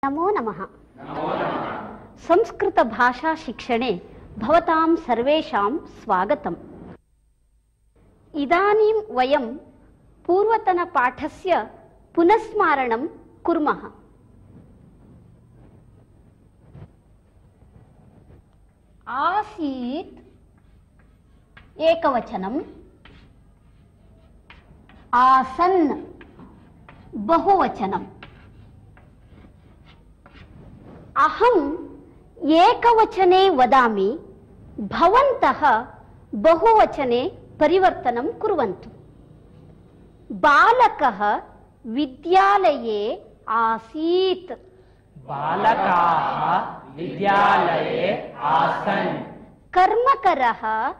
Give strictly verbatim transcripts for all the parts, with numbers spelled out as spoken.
नमो नमः। संस्कृत भाषा शिक्षणे भवतां सर्वेषां स्वागतम्। इदानीं वयं पूर्वतनपाठस्य पुनस्मारणं कुर्मः। आसीत् एकवचनम्, आसन् बहुवचनम्। अहम् एकवचने वदामि, भवन्तः बहुवचने परिवर्तनं कुर्वन्तु। बालकः विद्यालये आसीत्। बालकाः विद्यालये आसन्। कर्मकरः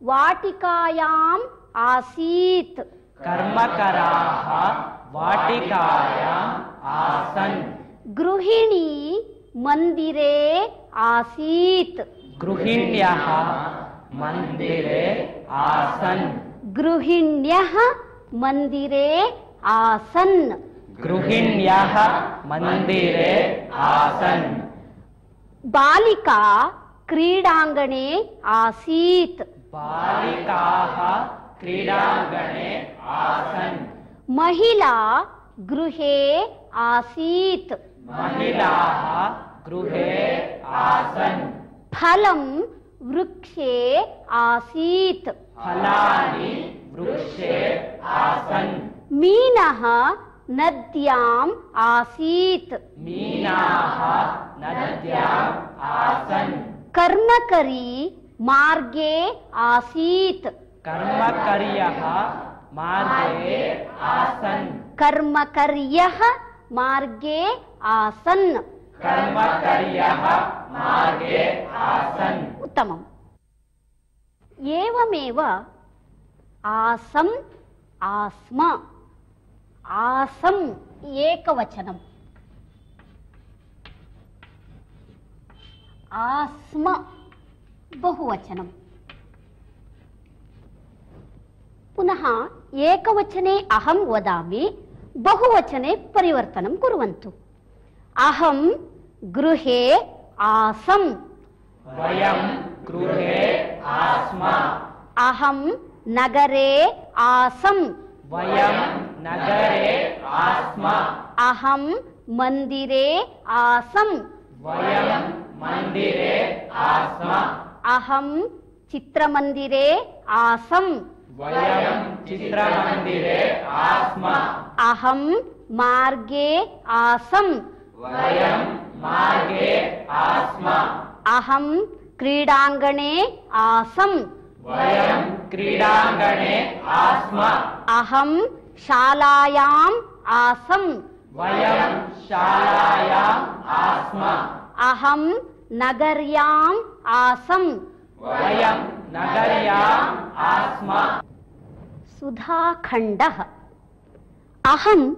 वाटिकायाम् आसीत्। कर्मकराः वाटिकायाम् आसन्। गृहिणी मन्दिरे आसीत्। गृहिण्यः मन्दिरे आसन्। गृहिण्यः मन्दिरे आसन्। गृहिण्यः मन्दिरे आसन्। बालिका क्रीडाङ्गणे आसीत्। बालिकाः क्रीडाङ्गणे आसन्। महिला गृहे आसीत्। महिलाः गृहे आसन्। फलं वृक्षे आसीत्। फलानि वृक्षे आसन्। मीनः नद्याम् आसीत्। मीनाः नद्याम् आसन्। कर्मकरी मार्गे आसीत्। कर्मकर्यः मार्गे आसन्। कर्मकर्यः मार्गे आसन्। कर्मकर्यः मार्गे आसन्। उत्तमम्। एवमेव आसम् आस्म। आसम् एकवचनम्, आस्म बहुवचनम्। पुनः एकवचने अहं वदामि, बहुवचने परिवर्तनं कुर्वन्तु। अहं गृहे आसम्। वयं गृहे आस्म। अहं नगरे आसम्। वयं नगरे आस्म। अहं मन्दिरे आसम्। वयं मन्दिरे आस्म। अहं चित्रमन्दिरे आसम्। वयं चित्रमन्दिरे आस्म। अहं मार्गे आसम्। वयं मार्गे आस्म। अहं क्रीडाङ्गणे आसम्। वयं क्रीडाङ्गणे आस्म। अहं शालायाम् आसम्। वयं शालायाम् आस्म। अहं नगर्याम् आसम्। वयं नगर्याम् आस्म। सुधाखण्डः। अहं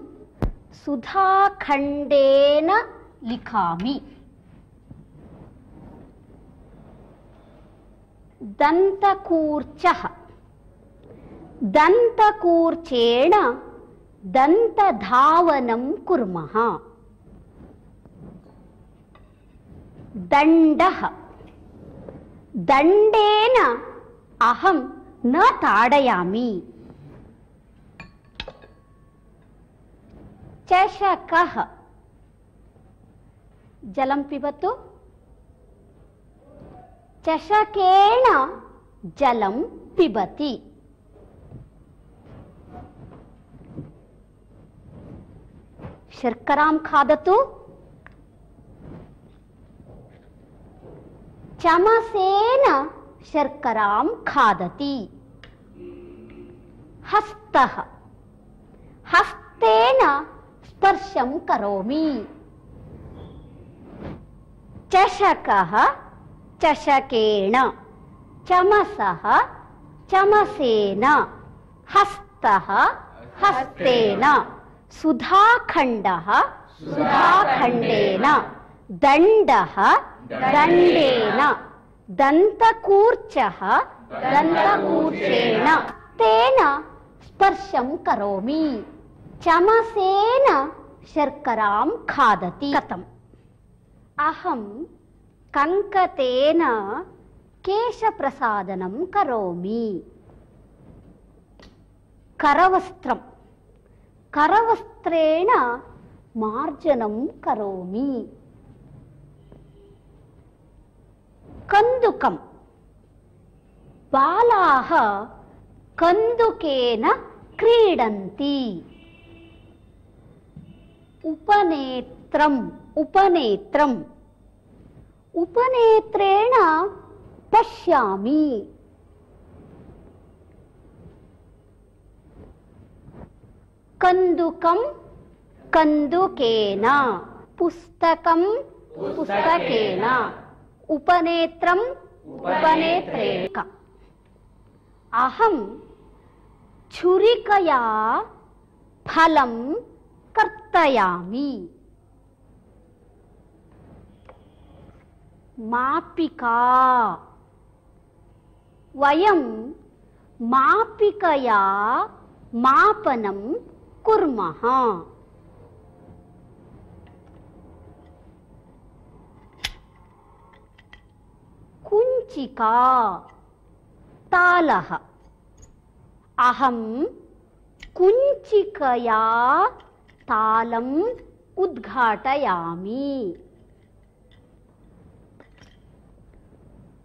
सुधाखण्डेन लिखामि। दन्तकूर्चः। दन्तकूर्चेण दन्तधावनं कुर्मः। दण्डः। दण्डेन अहं न ताडयामि। चषकः। जलं पिबतु। चषकेन जलं पिबति। शर्करां खादतु। चमसेन शर्करां खादति। हस्तः। हस्तेन स्पर्शं करोमि। चषकः चषकेन। चमसः चमसेन। हस्तः हस्तेन। सुधाखण्डः सुधाखण्डेन। दण्डः दण्डेन। दन्तकूर्चः दन्तकूर्चेन। तेन स्पर्शं करोमि। चमसेन शर्करां खादति। कथम्? अहं कंकतेन केशप्रसादनं करोमि। करवस्त्रं, करवस्त्रेण मार्जनं करोमि। कन्दुकं, बालाः कन्दुकेन क्रीडन्ति। उपनेत्रम्, उपनेत्रम्, उपनेत्रेण पश्यामि। कन्दुकं कन्दुकेन, पुस्तकं पुस्तकेन, उपनेत्रम् उपनेत्रेण। अहं छुरिकया फलं कर्तयामि। मापिका, वयं मापिकया मापनं कुर्मः। कुञ्चिका, तालः। अहं कुञ्चिकया तालम् उद्घाटयामि।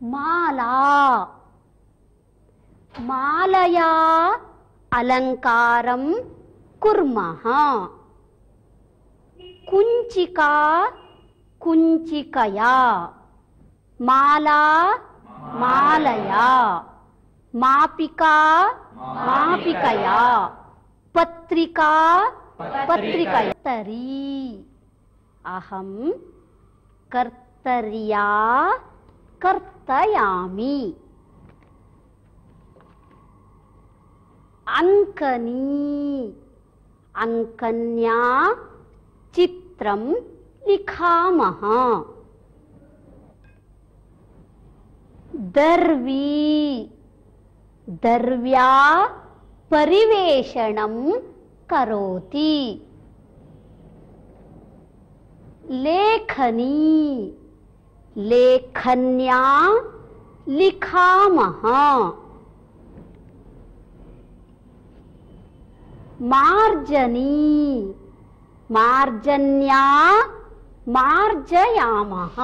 माला, मालया अलङ्कारं कुर्मः। कुञ्चिका कुञ्चिकया, माला मालया, मापिका मापिकया, पत्रिका पत्रिकया। कर्तरी, अहं कर्तर्या कर्तयामि। अंकनी, अंकन्या चित्रं लिखामः। दर्वी, दर्व्या परिवेषणं करोति। लेखनी, लेखन्या लिखामः। मार्जनी, मार्जन्या मार्जयामः।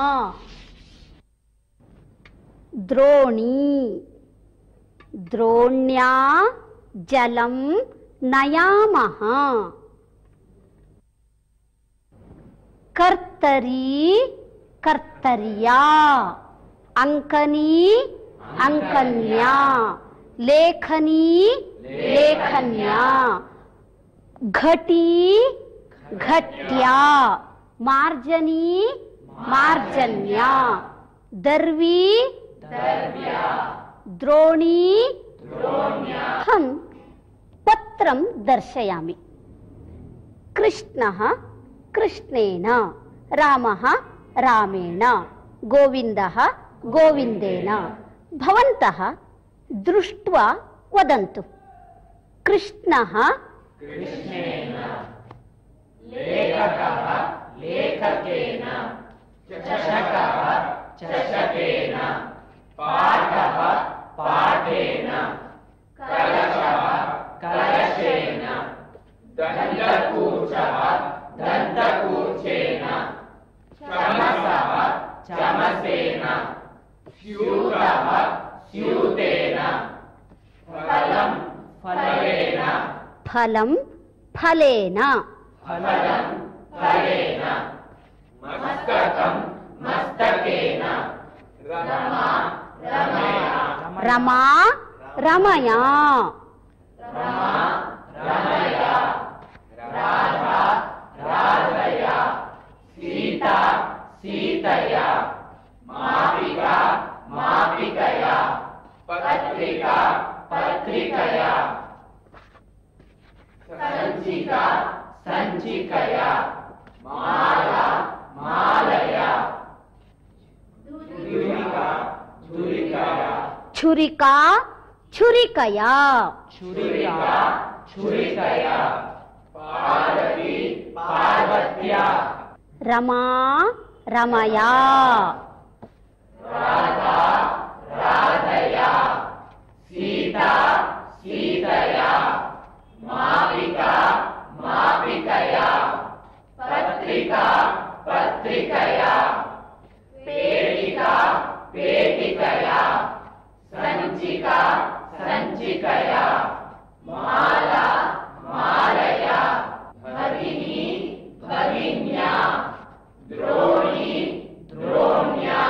द्रोणी, द्रोण्या जलं नयामः। कर्तरी कर्तर्या, अंकनी अंकन्या, लेखनी लेखन्या, घटी घट्या, मार्जनी मार्जन्या, दर्वी दर्व्या, द्रोणी द्रोण्या। अहं पत्रं दर्शयामि। कृष्णः कृष्णेन, रामः रामेण, गोविन्दः गोविन्देन। भवन्तः दृष्ट्वा वदन्तु। कृष्णः कृष्णेन, लेखकः लेखकेन, चषकः चषकेन, पाठः पाठेन, कलशः कलशेन, दन्तकूचः दन्तकूचेन, चमसः चमसेन, स्यूतः स्यूतेन, फलं फलेन, फलं फलेन, फलं फलेन, मस्तकं मस्तकेन, रमा रमया, रमा रमया, रमा रमया, राधा राधया, सीता सीतया, मापिका मापिकया, पत्रिका पत्रिकया, संचिका संचिकया, माला मालया, छुरिका छुरिकया, छुरिका छुरिकया, छुरिका छुरिकया, पार्वती पार्वत्या, रमा रमया राधा राधया सीता सीतया मापिका मापिकया पत्रिका पत्रिकया पेटिका पेटिकया संचिका संचिकया माला मालया भगिनी भगिन्या द्रोणी द्रोण्या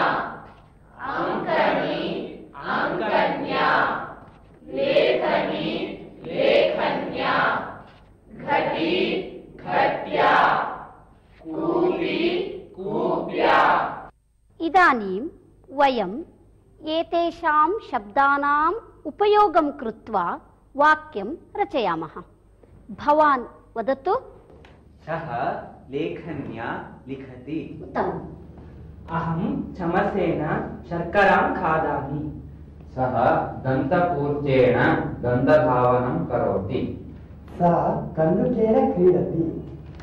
अंकनी अंकन्या लेखनी लेखन्या घटी घट्या कूपी कूप्या। इदानीं वयम् एतेषां शब्दानाम् उपयोगं कृत्वा वाक्यं रचयामः। भवान् वदतु। सः लेखन्या लिखति। उत्तमम्। अहं चमसेन शर्करां खादामि। सः दन्तपूर्तेन दन्तधावनं करोति। सा कन्दुकेन क्रीडति।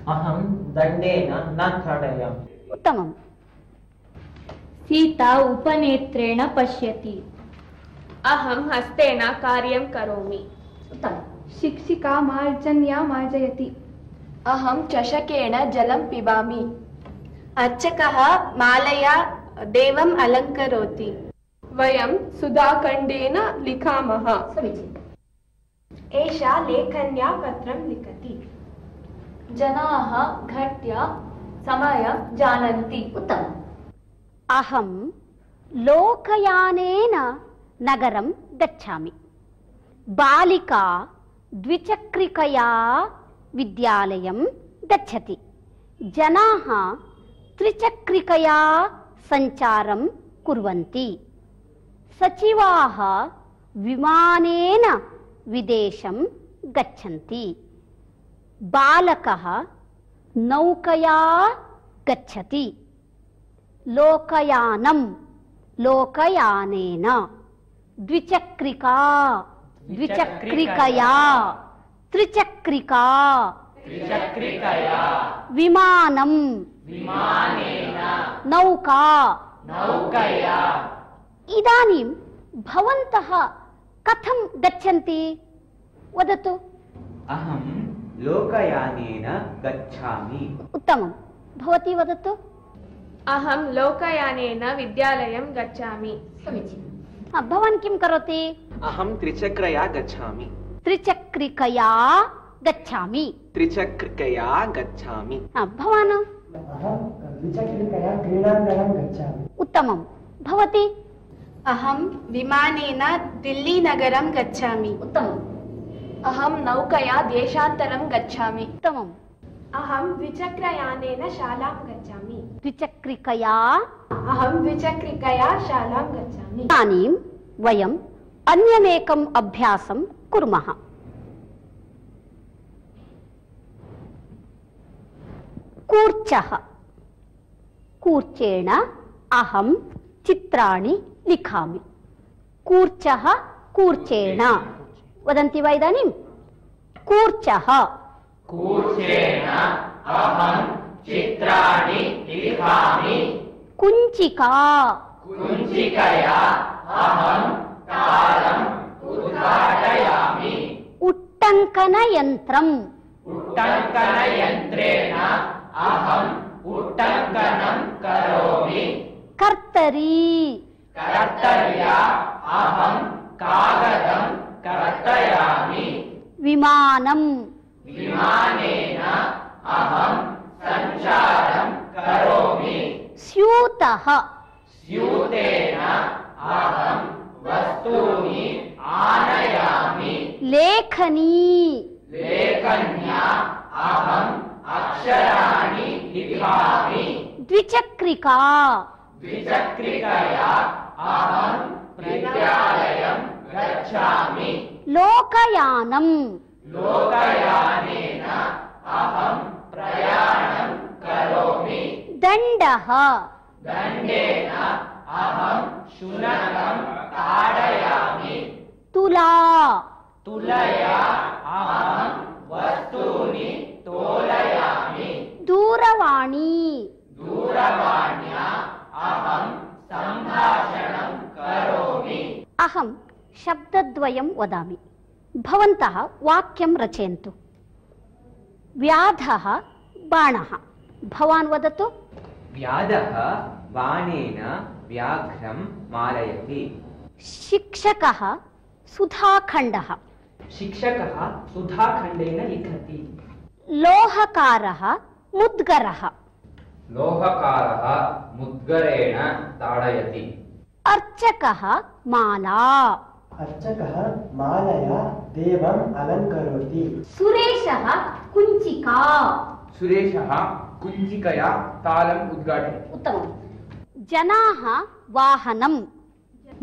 अहं दण्डेन न ताडयामि। उत्तमम्। सीता उपनेत्रेण पश्यति। अहं हस्तेन कार्यं करोमि। उत्तमम्। शिक्षिका मार्जन्या मार्जयति। अहं चषकेन जलं पिबामि। अर्चकः मालया देवम् अलङ्करोति। वयं सुधाखण्डेन लिखामः। समीचीनम्। एषा लेखन्या पत्रं लिखति। जनाः घट्या समयं जानन्ति। उत्तमम्। अहं लोकयानेन नगरं गच्छामि। बालिका द्विचक्रिकया विद्यालयं गच्छति। जनाः त्रिचक्रिकया सञ्चारं कुर्वन्ति। सचिवाः विमानेन विदेशं गच्छन्ति। बालकः नौकया गच्छति। लोकयानं लोकयानेन द्विचक्रिका द्विचक्रिकया त्रिचक्रिका त्रिचक्रिकया विमानं विमानेन नौका नौकया। इदानीं भवन्तः कथं गच्छन्ति वदतु। अहं लोकयानेन गच्छामि। उत्तमं। भवती वदतु। अहं लोकयानेन विद्यालयं गच्छामि। समीचीनं। भवान् किं करोति? अहं त्रिचक्रया गच्छामि। त्रिचक्रिकया गच्छामि। त्रिचक्रिकया गच्छामि। भवान्? अहं द्विचक्रिकया क्रीडाङ्गणं गच्छामि। उत्तमं। भवती? अहं विमानेन दिल्लीनगरं गच्छामि। उत्तमम्। अहं नौकया देशान्तरं गच्छामि। उत्तमम्। अहं द्विचक्रयानेन शालां गच्छामि। द्विचक्रिकया अहं द्विचक्रिकया शालां गच्छामि। इदानीं वयम् अन्यमेकम् अभ्यासं कुर्मः। कूर्चः। कूर्चेण अहं चित्राणि लिखामि। कूर्चः कूर्चेण वदन्ति वा इदानीं? कूर्चः कूर्चेन अहं चित्राणि लिखामि। कुञ्चिका कुञ्चिकया अहं तालम् उद्घाटयामि। उट्टङ्कनयन्त्रम् उट्टङ्कनयन्त्रेण अहम् उट्टङ्कनं करोमि। कर्तरी कर्तर्या अहं कागदं कर्तयामि। विमानम् विमानेन अहं सञ्चारं करोमि। स्यूतः स्यूतेन अहं वस्तूनि आनयामि। लेखनी लेखन्या अहम् अक्षराणि लिखामि। द्विचक्रिका द्विचक्रिकया अहं विद्यालयं गच्छामि। लोकयानम् लोकयानेन अहं प्रयाणं करोमि। दण्डः दण्डेन अहं शुनकं ताडयामि। तुला तुलया अहं वस्तूनि तोलयामि। दूरवाणी दूरवाण्या अहं शब्दद्वयं वदामि, भवन्तः वाक्यं रचयन्तु। व्याधः बाणः, भवान् वदतु। व्याधः बाणेन व्याघ्रं मारयति। शिक्षकः सुधाखण्डः, शिक्षकः सुधाखण्डेन लिखति। लोहकारः मुद्गरः, लोहकारः मुद्गरेण ताडयति। अर्चकः माला, अर्चकः मालया देवम् अलङ्करोति। सुरेशः कुञ्चिका, सुरेशः कुञ्चिकया तालम् उद्घाटयति। उत्तमम्। जनाः वाहनं,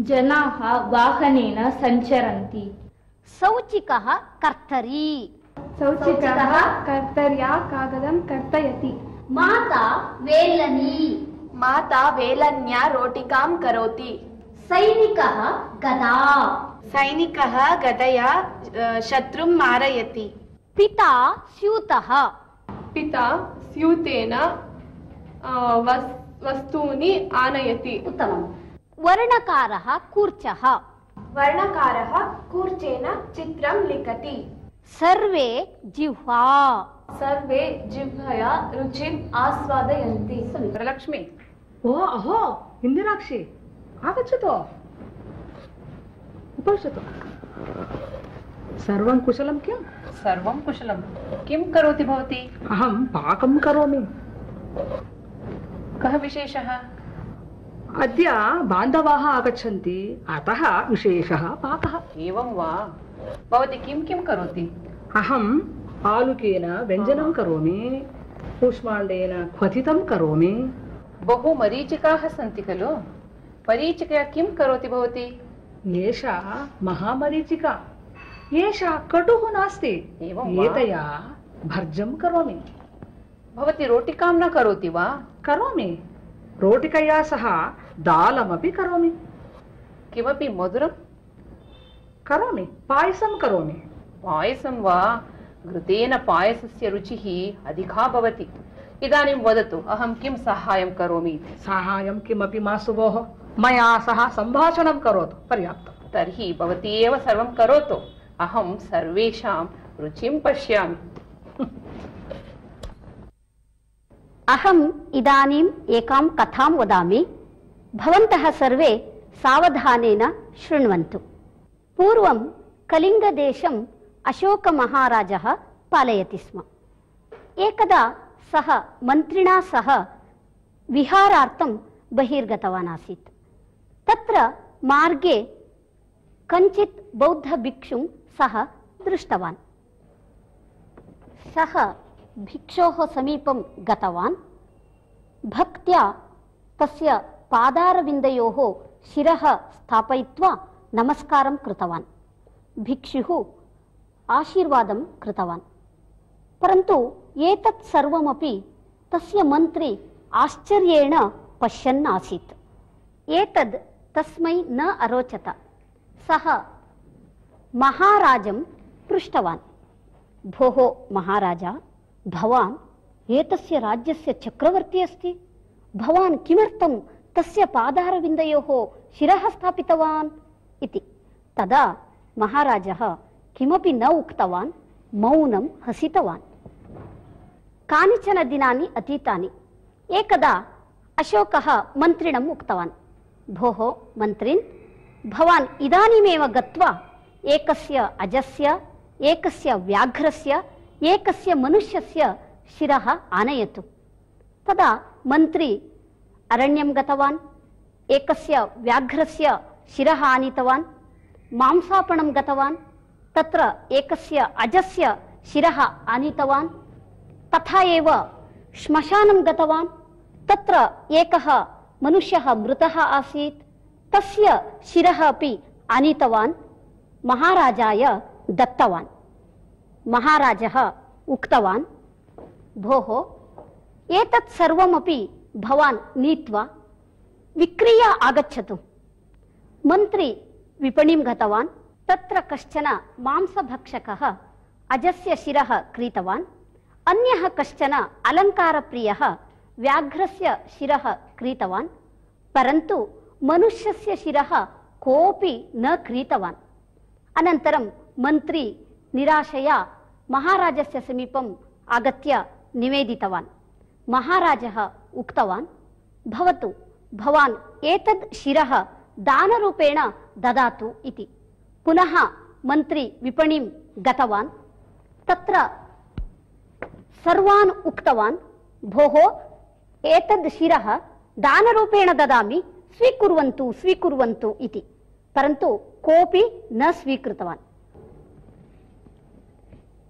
जनाः वाहनेन सञ्चरन्ति। सौचिकः कर्तरी, सौचिकः कर्तर्या कागदं कर्तयति। माता वेलनी, माता वेलन्या रोटिकां करोति। सैनिकः गदा, सैनिकः गदया अ, शत्रुं मारयति। पिता स्यूतः, पिता स्यूतेन अ, वस्- वस्तूनि आनयति। उत्तमम्। वर्णकारः कूर्चः, वर्णकारः कूर्चेन चित्रं लिखति। सर्वे जिह्वा, सर्वे जिह्वया रुचिम् आस्वादयन्ति। वरलक्ष्मी, ओ अहो इन्दिराक्षी, आगच्छतु, उपविशतु। सर्वं कुशलं किं? सर्वं कुशलं। किं करोति भवती? अहं पाकं करोमि। कः विशेषः? अद्य बान्धवाः आगच्छन्ति, अतः विशेषः पाकः। एवं वा? भवती किं किं करोति? अहम् आलुकेन व्यञ्जनं करोमि, कूष्माण्डेन क्वथितं करोमि। बहु मरीचिकाः सन्ति खलु? मरीचिकया किं करोति भवती? एषा महामरीचिका, एषा कटुः नास्ति, एवं वा? एतया भर्जं करोमि। भवती रोटिकां न करोति वा? करोमि, रोटिकया सह दालमपि करोमि। किमपि मधुरं करोमि, पायसं करोमि। पायसं वा? घृतेन पायसस्य रुचिः अधिका भवति। इदानीं वदतु, अहं किं साहाय्यं करोमि इति। साहाय्यं किमपि मास्तु भोः, मया सह सम्भाषणं करोतु, पर्याप्तम्। तर्हि भवती एव सर्वं करोतु, अहं सर्वेषां रुचिं पश्यामि। अहम् इदानीम् एकां कथां वदामि, भवन्तः सर्वे सावधानेन शृण्वन्तु। पूर्वं कलिङ्गदेशम् अशोकमहाराजः पालयति स्म। एकदा सः मन्त्रिणा सह विहारार्थं बहिर्गतवान् आसीत्। तत्र मार्गे कञ्चित् बौद्धभिक्षुं सः दृष्टवान्। सः भिक्षोः समीपं गतवान्, भक्त्या तस्य पादारविन्दयोः शिरः स्थापयित्वा नमस्कारं कृतवान्। भिक्षुः आशीर्वादं कृतवान्, परन्तु एतत् सर्वमपि तस्य मन्त्री आश्चर्येण पश्यन् आसीत्। एतद् तस्मै न अरोचत। सः महाराजं पृष्टवान्, भोः महाराजा, भवान् एतस्य राज्यस्य चक्रवर्ती अस्ति, भवान् किमर्थं तस्य पादारविन्दयोः शिरः स्थापितवान् इति। तदा महाराजः किमपि न उक्तवान्, मौनं हसितवान्। कानिचन दिनानि अतीतानि। एकदा अशोकः मन्त्रिणम् उक्तवान्, भोः मन्त्रिन्, भवान् इदानीमेव गत्वा एकस्य अजस्य, एकस्य व्याघ्रस्य, एकस्य मनुष्यस्य शिरः आनयतु। तदा मन्त्री अरण्यं गतवान्, एकस्य व्याघ्रस्य शिरः आनीतवान्। मांसापणं गतवान्, तत्र एकस्य अजस्य शिरः आनीतवान्। तथा एव श्मशानं गतवान्, तत्र एकः मनुष्यः मृतः आसीत्, तस्य शिरः अपि आनीतवान्, महाराजाय दत्तवान्। महाराजः उक्तवान्, भोः एतत् सर्वमपि भवान् नीत्वा विक्रीय आगच्छतु। मन्त्री विपणिं गतवान्, तत्र कश्चन मांसभक्षकः अजस्य शिरः क्रीतवान्, अन्यः कश्चन अलङ्कारप्रियः व्याघ्रस्य शिरः क्रीतवान्, परन्तु मनुष्यस्य शिरः कोऽपि न क्रीतवान्। अनन्तरं मन्त्री निराशया महाराजस्य समीपम् आगत्य निवेदितवान्। महाराजः उक्तवान्, भवतु, भवान् एतद् शिरः दानरूपेण ददातु इति। पुनः मन्त्री विपणिं गतवान्। तत्र सर्वान् उक्तवान्, भोः एतद् शिरः दानरूपेण ददामि, स्वीकुर्वन्तु स्वीकुर्वन्तु इति। परन्तु कोऽपि न स्वीकृतवान्।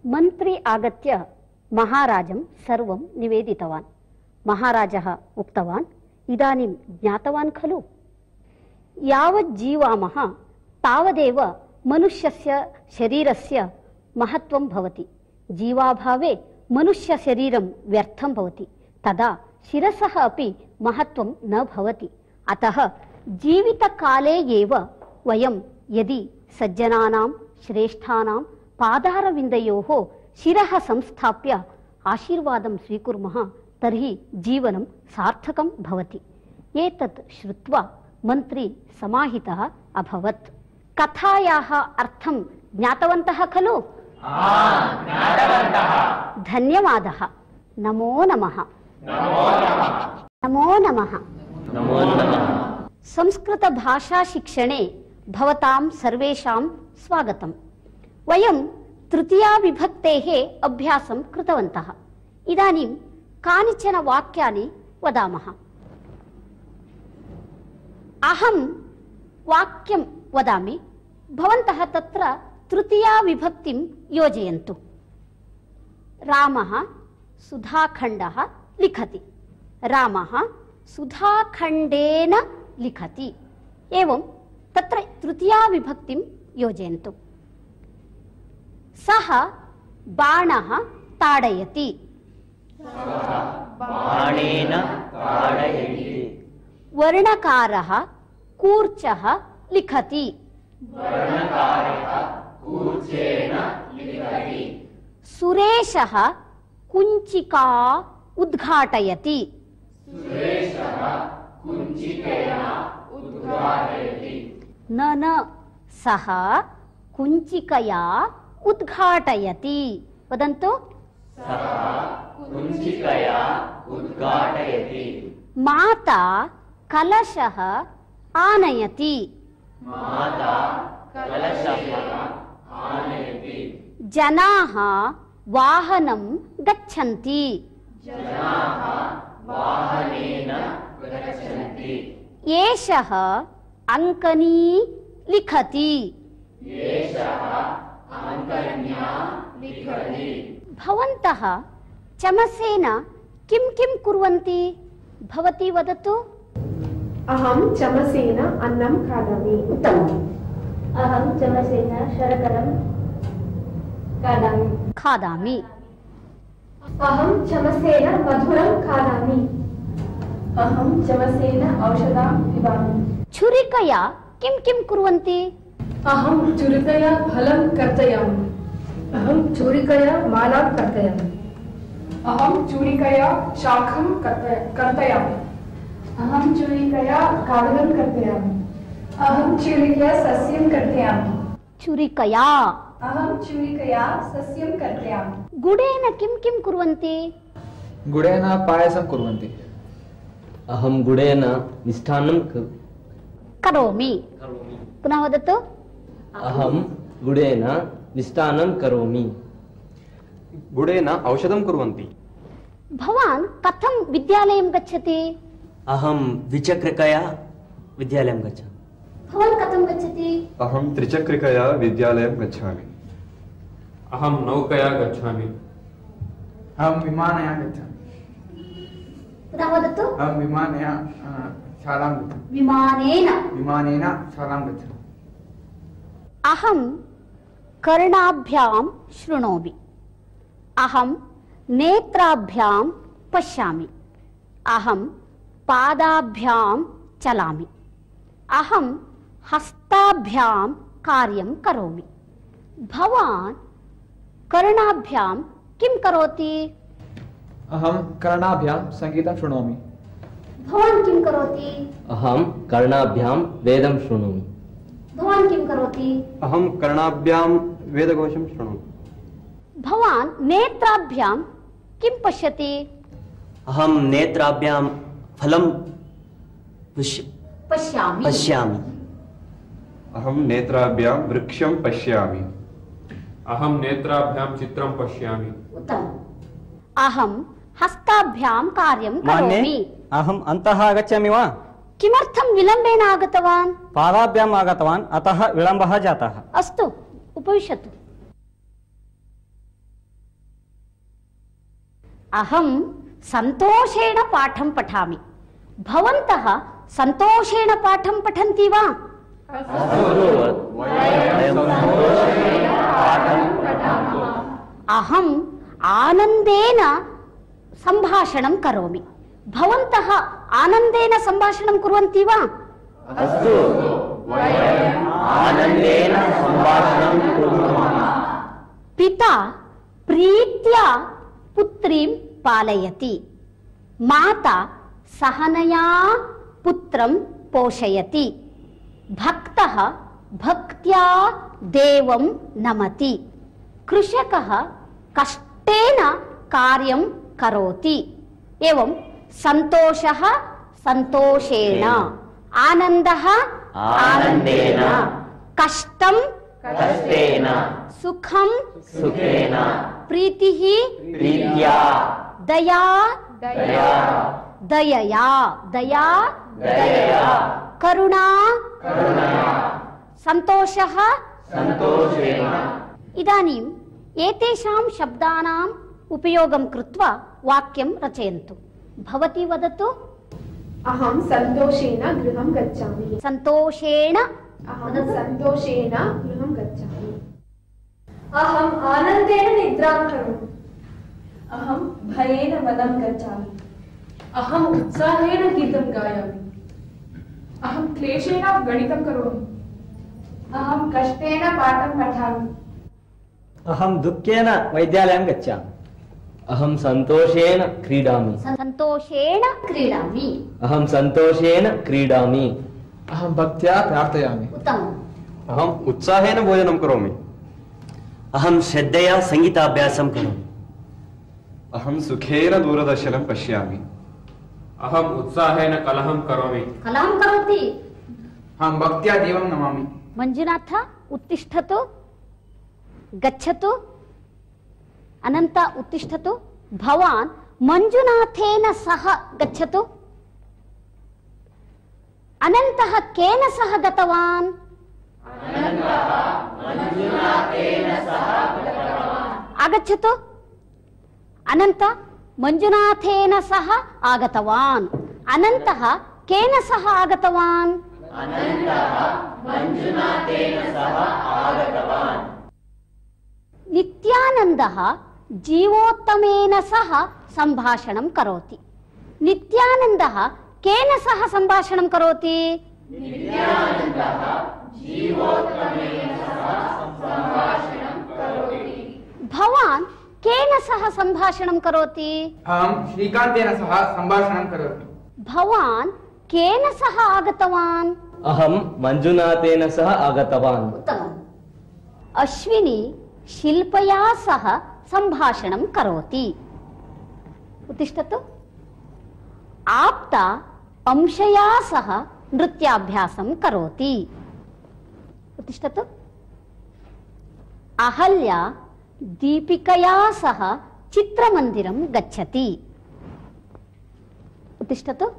मन्त्री आगत्य महाराजं सर्वं निवेदितवान्। महाराजः उक्तवान्, इदानीं ज्ञातवान् खलु, यावत् जीवामः तावदेव मनुष्यस्य शरीरस्य महत्त्वं भवति। जीवाभावे मनुष्यशरीरं व्यर्थं भवति, तदा शिरसः अपि महत्त्वं न भवति। अतः जीवितकाले एव वयं यदि सज्जनानां श्रेष्ठानां पादारविन्दयोः शिरः संस्थाप्य आशीर्वादं स्वीकुर्मः तर्हि जीवनं सार्थकं भवति। एतत् श्रुत्वा मन्त्री समाहितः अभवत्। कथायाः अर्थं ज्ञातवन्तः खलु? धन्यवादः। नमो नमः। नमो नमः। संस्कृतभाषाशिक्षणे भवतां सर्वेषां स्वागतम्। वयं तृतीया विभक्तेः अभ्यासं कृतवन्तः। इदानीं कानिचन वाक्यानि वदामः। अहं वाक्यं वदामि, भवन्तः तत्र तृतीया विभक्तिं योजयन्तु। रामः सुधाखण्डः लिखति। रामः सुधाखण्डेन लिखति। एवं तत्र तृतीया विभक्तिं योजयन्तु। सः बाणः ताडयति। बाणेन ताडयति। वर्णकारः कूर्चः लिखति। वर्णकारः कूर्चेन लिखति। सुरेशः कुञ्चिका उद्घाटयति। सुरेशः कुञ्चिकया उद्घाटयति। न न सः कुञ्चिकया उद्घाटयति। वदन्तु। सः कुञ्चिकया उद्घाटयति। माता कलशः आनयति। माता कलशः आनयति। जनाः वाहनं गच्छन्ति। जनाः वाहनेन गच्छन्ति। एषः अङ्कनी लिखति। एषः अङ्कन्या लिखति। भवन्तः चमसेन किं किं कुर्वन्ति? भवती वदतु। अहं चमसेन अन्नं खादामि। उत्तमम्। अहं चमसेन शर्करं खादामि। खादामि। अहं चमसेन मधुरं खादामि। अहं चमसेन औषधं पिबामि। छुरिकया किं किं कुर्वन्ति? अहं छुरिकया फलं कर्तयामि। अहं छुरिकया मालां कर्तयामि। अहं छुरिकया शाखं कर्तयामि। अहं छुरिकया कागदं कर्तयामि। अहं छुरिकया सस्यं कर्तयामि। छुरिकया। अहं छुरिकया सस्यं कर्तयामि। गुडेन किं किं कुर्वन्ति? गुडेन पायसं कुर्वन्ति। अहं गुडेन मिष्टान्नं करोमि। पुनः वदतु। अहं गुडेन मिष्टान्नं करोमि। गुडेन औषधं कुर्वन्ति। भवान् कथं विद्यालयं गच्छति? अहं द्विचक्रिकया विद्यालयं गच्छामि। भवान् कथं गच्छति? अहं त्रिचक्रिकया विद्यालयं गच्छामि। अहं नौकया गच्छामि। अहं विमानया गच्छामि। पुनः वदतु। अहं विमानया शालां गच्छामि। विमानेन। विमानेन शालां गच्छामि। अहं कर्णाभ्यां शृणोमि। अहं नेत्राभ्यां पश्यामि। अहं पादाभ्यां चलामि। अहं हस्ताभ्यां कार्यं करोमि। भवान् कर्णाभ्यां किं करोति? अहं कर्णाभ्यां सङ्गीतं शृणोमि। भवान् किं करोति? अहं कर्णाभ्यां वेदं शृणोमि। करोति? अहं कर्णाभ्यां वेदघोषं शृणोमि। भवान् नेत्राभ्यां किं पश्यति? अहं नेत्राभ्यां फलं पश्य पश्यामि पश्यामि अहं नेत्राभ्यां वृक्षं पश्यामि। अहं नेत्राभ्यां चित्रं पश्यामि। उत्तमम्। अहं हस्ताभ्यां कार्यं करोमि। अहम् अन्तः आगच्छामि वा? किमर्थं विलम्बेन आगतवान्? पादाभ्याम् आगतवान्, अतः विलम्बः जातः। अस्तु, उपविशतु। अहं सन्तोषेण पाठं पठामि। भवन्तः सन्तोषेण पाठं पठन्ति वा? अहम् आनन्देन सम्भाषणं करोमि। भवन्तः आनन्देन सम्भाषणं कुर्वन्ति वा? अस्तु, वयम् आनन्देन सम्भाषणं कुर्मः। पिता प्रीत्या पुत्रीं पालयति। माता सहनया पुत्रं पोषयति। भक्तः भक्त्या देवं नमति। कृषकः कष्टेन कार्यं करोति। एवं सन्तोषः सन्तोषेण, आनन्दः आनन्देन, कष्टं कष्टेन, सुखं सुखेन, प्रीतिः प्रीत्या, दया दया, दयया दया दयया, करुणा करुणया, सन्तोषः सन्तोषेण। इदानीम् एतेषां शब्दानाम् उपयोगं कृत्वा वाक्यं रचयन्तु। भवती वदतु। अहं सन्तोषेण गृहं गच्छामि। सन्तोषेण अहं सन्तोषेण गृहं गच्छामि। अहम् आनन्देन निद्रां करोमि। अहं भयेन वनं गच्छामि। अहम् उत्साहेन गीतं गायामि। अहं क्लेशेन गणितं करोमि। अहं कष्टेन पाठं पठामि। अहं दुःखेन वैद्यालयं गच्छामि। अहं सन्तोषेण क्रीडामि। सन्तोषेण क्रीडामि। अहं सन्तोषेण क्रीडामि। अहं भक्त्या प्रार्थयामि। उत्तमम्। अहम् उत्साहेन भोजनं करोमि। अहं श्रद्धया सङ्गीताभ्यासं करोमि। अहं सुखेन दूरदर्शनं पश्यामि। अहम् उत्साहेन कलहं करोमि। कलहं करोति? अहं भक्त्या देवं नमामि। मञ्जुनाथ, उत्तिष्ठतु, गच्छतु। अनन्त, उत्तिष्ठतु। भवान् मञ्जुनाथेन सह गच्छतु। अनन्तः केन सह गतवान्? आगच्छतु। अनन्त मञ्जुनाथेन सह आगतवान्। अनन्तः केन सह आगतवान्? नित्यानन्दः जीवोत्तमेन सह सम्भाषणं करोति। नित्यानन्दः केन सह सम्भाषणं करोति? भवान् केन सह सम्भाषणं करोति? अहं श्रीकान्तेन सह सम्भाषणं करोमि। भवान् केन सह आगतवान्? अहं मञ्जुनाथेन सह आगतवान्। उत्तमम्। अश्विनी शिल्पया सह सम्भाषणं करोति। उत्तिष्ठतु। आप्ता अंशया सह नृत्याभ्यासं करोति। उत्तिष्ठतु। अहल्या दीपिकया सह चित्रमन्दिरं गच्छति। उत्तिष्ठतु।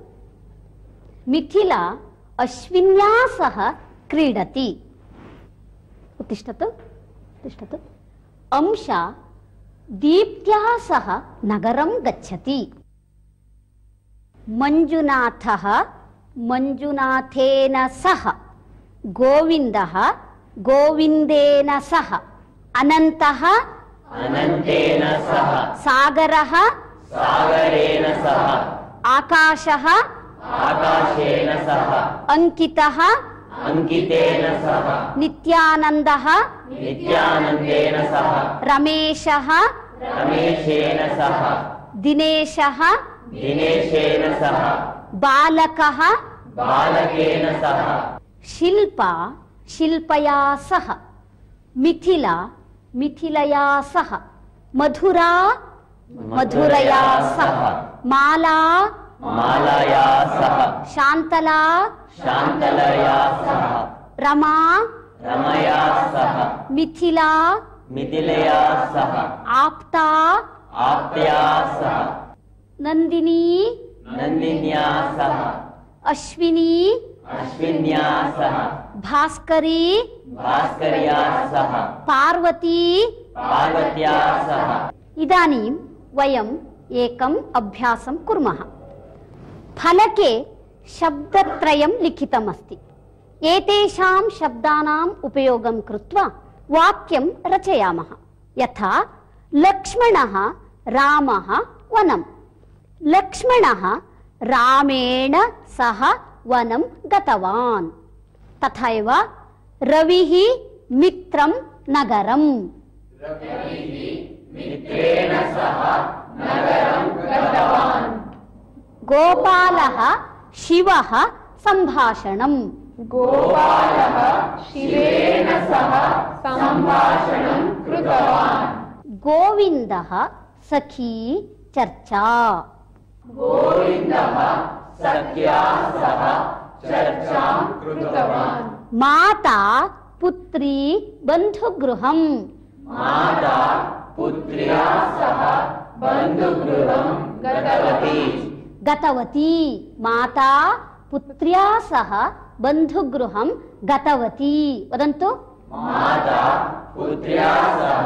मिथिला अश्विन्या सह क्रीडति। उत्तिष्ठतु। उत्तिष्ठतु। अंशा दीप्त्या सह नगरं गच्छति। मञ्जुनाथः मञ्जुनाथेन सह, गोविन्दः गोविन्देन सह, अनन्तः अनन्तेन सह, सागरः सागरेण सह, आकाशः आकाशेन सह, अंकितः अंकितेन सह, नित्यानन्दः नित्यानन्देन सह, रमेशः रमेशेन सह, दिनेशः दिनेशेन सह, बालकः बालकेन सह, शिल्पा शिल्पया सह, मिथिला मिथिलया सह, मधुरा मधुरया सह, माला मालया सह, शान्तला शान्तलया सह, रमा रमया सह, मिथिला मिथिलया सह, आप्ता आप्तया सह, नन्दिनी नन्दिन्या सह, अश्विनी अश्विन्या सह, भास्करी भास्कर्या सह, पार्वती पार्वत्या सह। इदानीं वयम् एकम् अभ्यासं कुर्मः। फलके शब्दत्रयं लिखितमस्ति। एतेषां शब्दानाम् उपयोगं कृत्वा वाक्यं रचयामः। यथा लक्ष्मणः रामः वनं। लक्ष्मणः रामेण सह वनं गतवान्। तथा एव रविः मित्रं नगरम्। मित्रेण सह नगरं गतवान्। गोपालः शिवः सम्भाषणम्। गोपालः शिवेन सह सम्भाषणं कृतवान्। गोविन्दः सखी चर्चा। गोविन्दः सख्या सह चर्चां कृतवान्। माता पुत्री बन्धुगृहम्। माता पुत्र्या सह बन्धुगृहं गतवती। गतवती माता पुत्र्या सह बन्धुगृहं गतवती। वदन्तु। माता पुत्र्या सह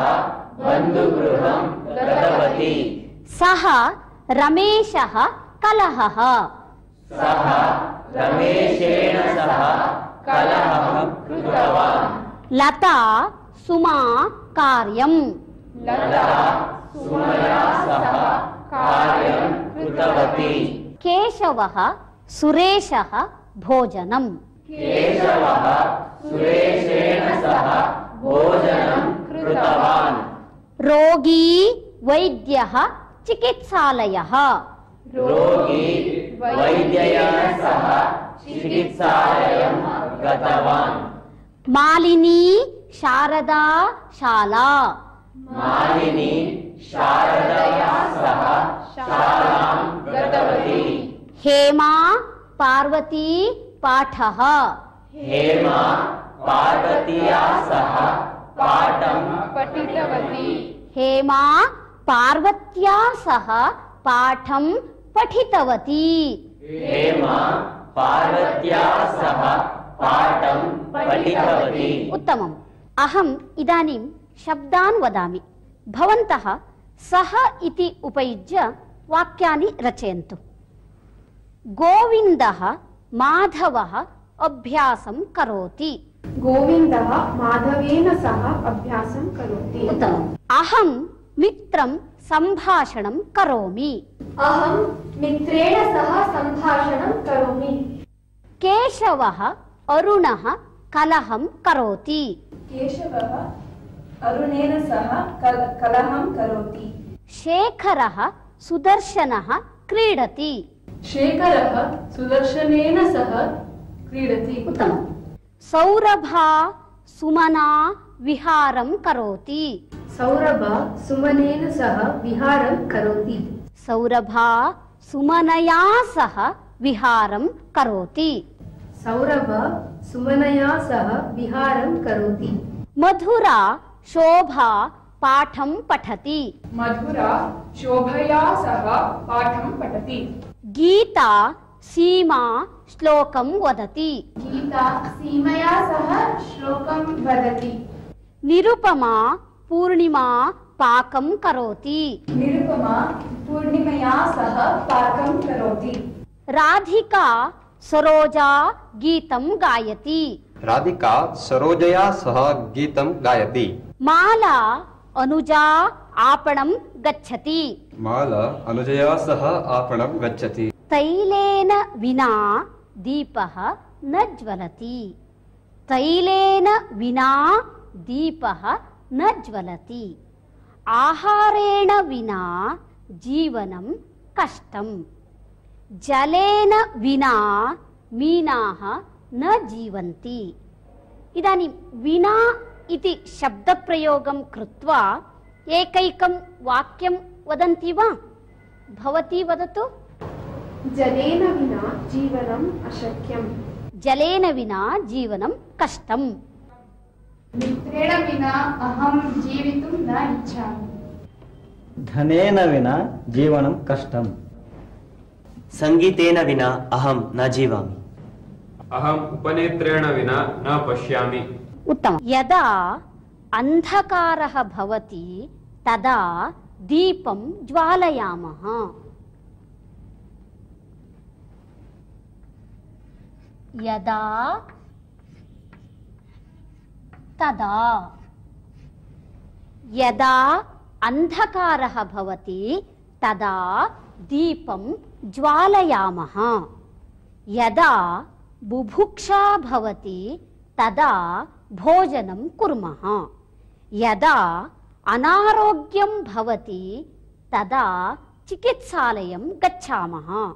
बन्धुगृहं गतवती। सः रमेशः कलहः। सः रमेशेन सह कलहं कृतवान्। लता सुमा कार्यम्। लता सुमया सह कार्यं कृतवती। केशवः सुरेशः भोजनम्। केशवः सुरेशेन सह भोजनं कृतवान्। रोगी वैद्यः चिकित्सालयः। रोगी वैद्येन सह चिकित्सालयं गतवान्। मालिनी शारदा शाला। मालिनी शारदया सह शालां गतवती। हेमा पार्वती पाठः। हेमा पार्वत्या सह पाठं पठितवती। हेमा पार्वत्या सह पाठं पठितवती। हेमा पार्वत्या सह पाठं पठितवती। उत्तमम्। अहम् इदानीं शब्दान् वदामि। भवन्तः सः इति उपयुज्य वाक्यानि रचयन्तु। गोविन्दः माधवः अभ्यासं करोति। गोविन्दः माधवेन सह अभ्यासं करोति। उत्तमम्। अहं मित्रं सम्भाषणं करोमि। अहं मित्रेण सह सम्भाषणं करोमि। केशवः अरुणः कलहं करोति। केशवः अरुणेन सह कलहं करोति। शेखरः सुदर्शनः क्रीडति। शेखरः सुदर्शनेन सह क्रीडति। उत्तमम्। सौरभा सुमना विहारं करोति। सौरभा सुमनेन सह विहारं करोति। सौरभा सुमनया सह विहारं करोति। सौरभा सुमनया सह विहारं करोति। मधुरा शोभा पाठं पठति। मधुरा शोभया सह पाठं पठति। गीता सीमा श्लोकं वदति। गीता सीमया सह श्लोकं वदति। निरुपमा पूर्णिमा पाकं करोति। निरुपमा पूर्णिमया सह पाकं करोति। राधिका सरोजा गीतं गायति। राधिका सरोजया सह गीतं गायति। माला अनुजा आपणं गच्छति। माला अनुजया सह आपणं गच्छति। तैलेन विना दीपः न ज्वलति। तैलेन विना दीपः न ज्वलति। आहारेण विना जीवनं कष्टम्। जलेन विना मीनाः न जीवन्ति। इदानीं विना इति शब्दप्रयोगं कृत्वा एकैकं वाक्यं वदन्ति वा? भवती वदतु। जलेन विना जीवनम् अशक्यम्। जलेन विना जीवनं कष्टम्। मित्रेण विना अहं जीवितुं न इच्छामि। धनेन विना जीवनं कष्टम्। संगीतेन विना अहं न जीवामि। अहम् उपनेत्रेण विना न पश्यामि। उत्तमम्। यदा अन्धकारः भवति तदा दीपं ज्वालयामः। यदा तदा यदा अन्धकारः भवति तदा दीपं ज्वालयामः। यदा बुभुक्षा भवति तदा भोजनं कुर्मः। यदा अनारोग्यं भवति तदा चिकित्सालयं गच्छामः।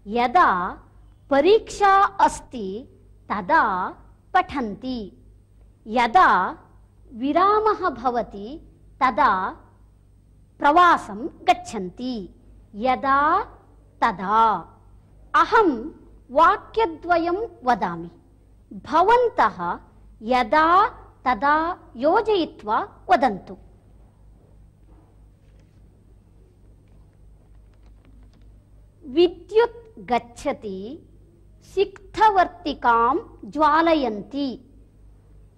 यदा परीक्षा अस्ति तदा पठन्ति। यदा विरामः भवति तदा प्रवासं गच्छन्ति। यदा तदा। अहं वाक्यद्वयं वदामि, भवन्तः यदा तदा योजयित्वा वदन्तु। विद्युत् गच्छति, सिक्थवर्तिकां ज्वालयन्ति।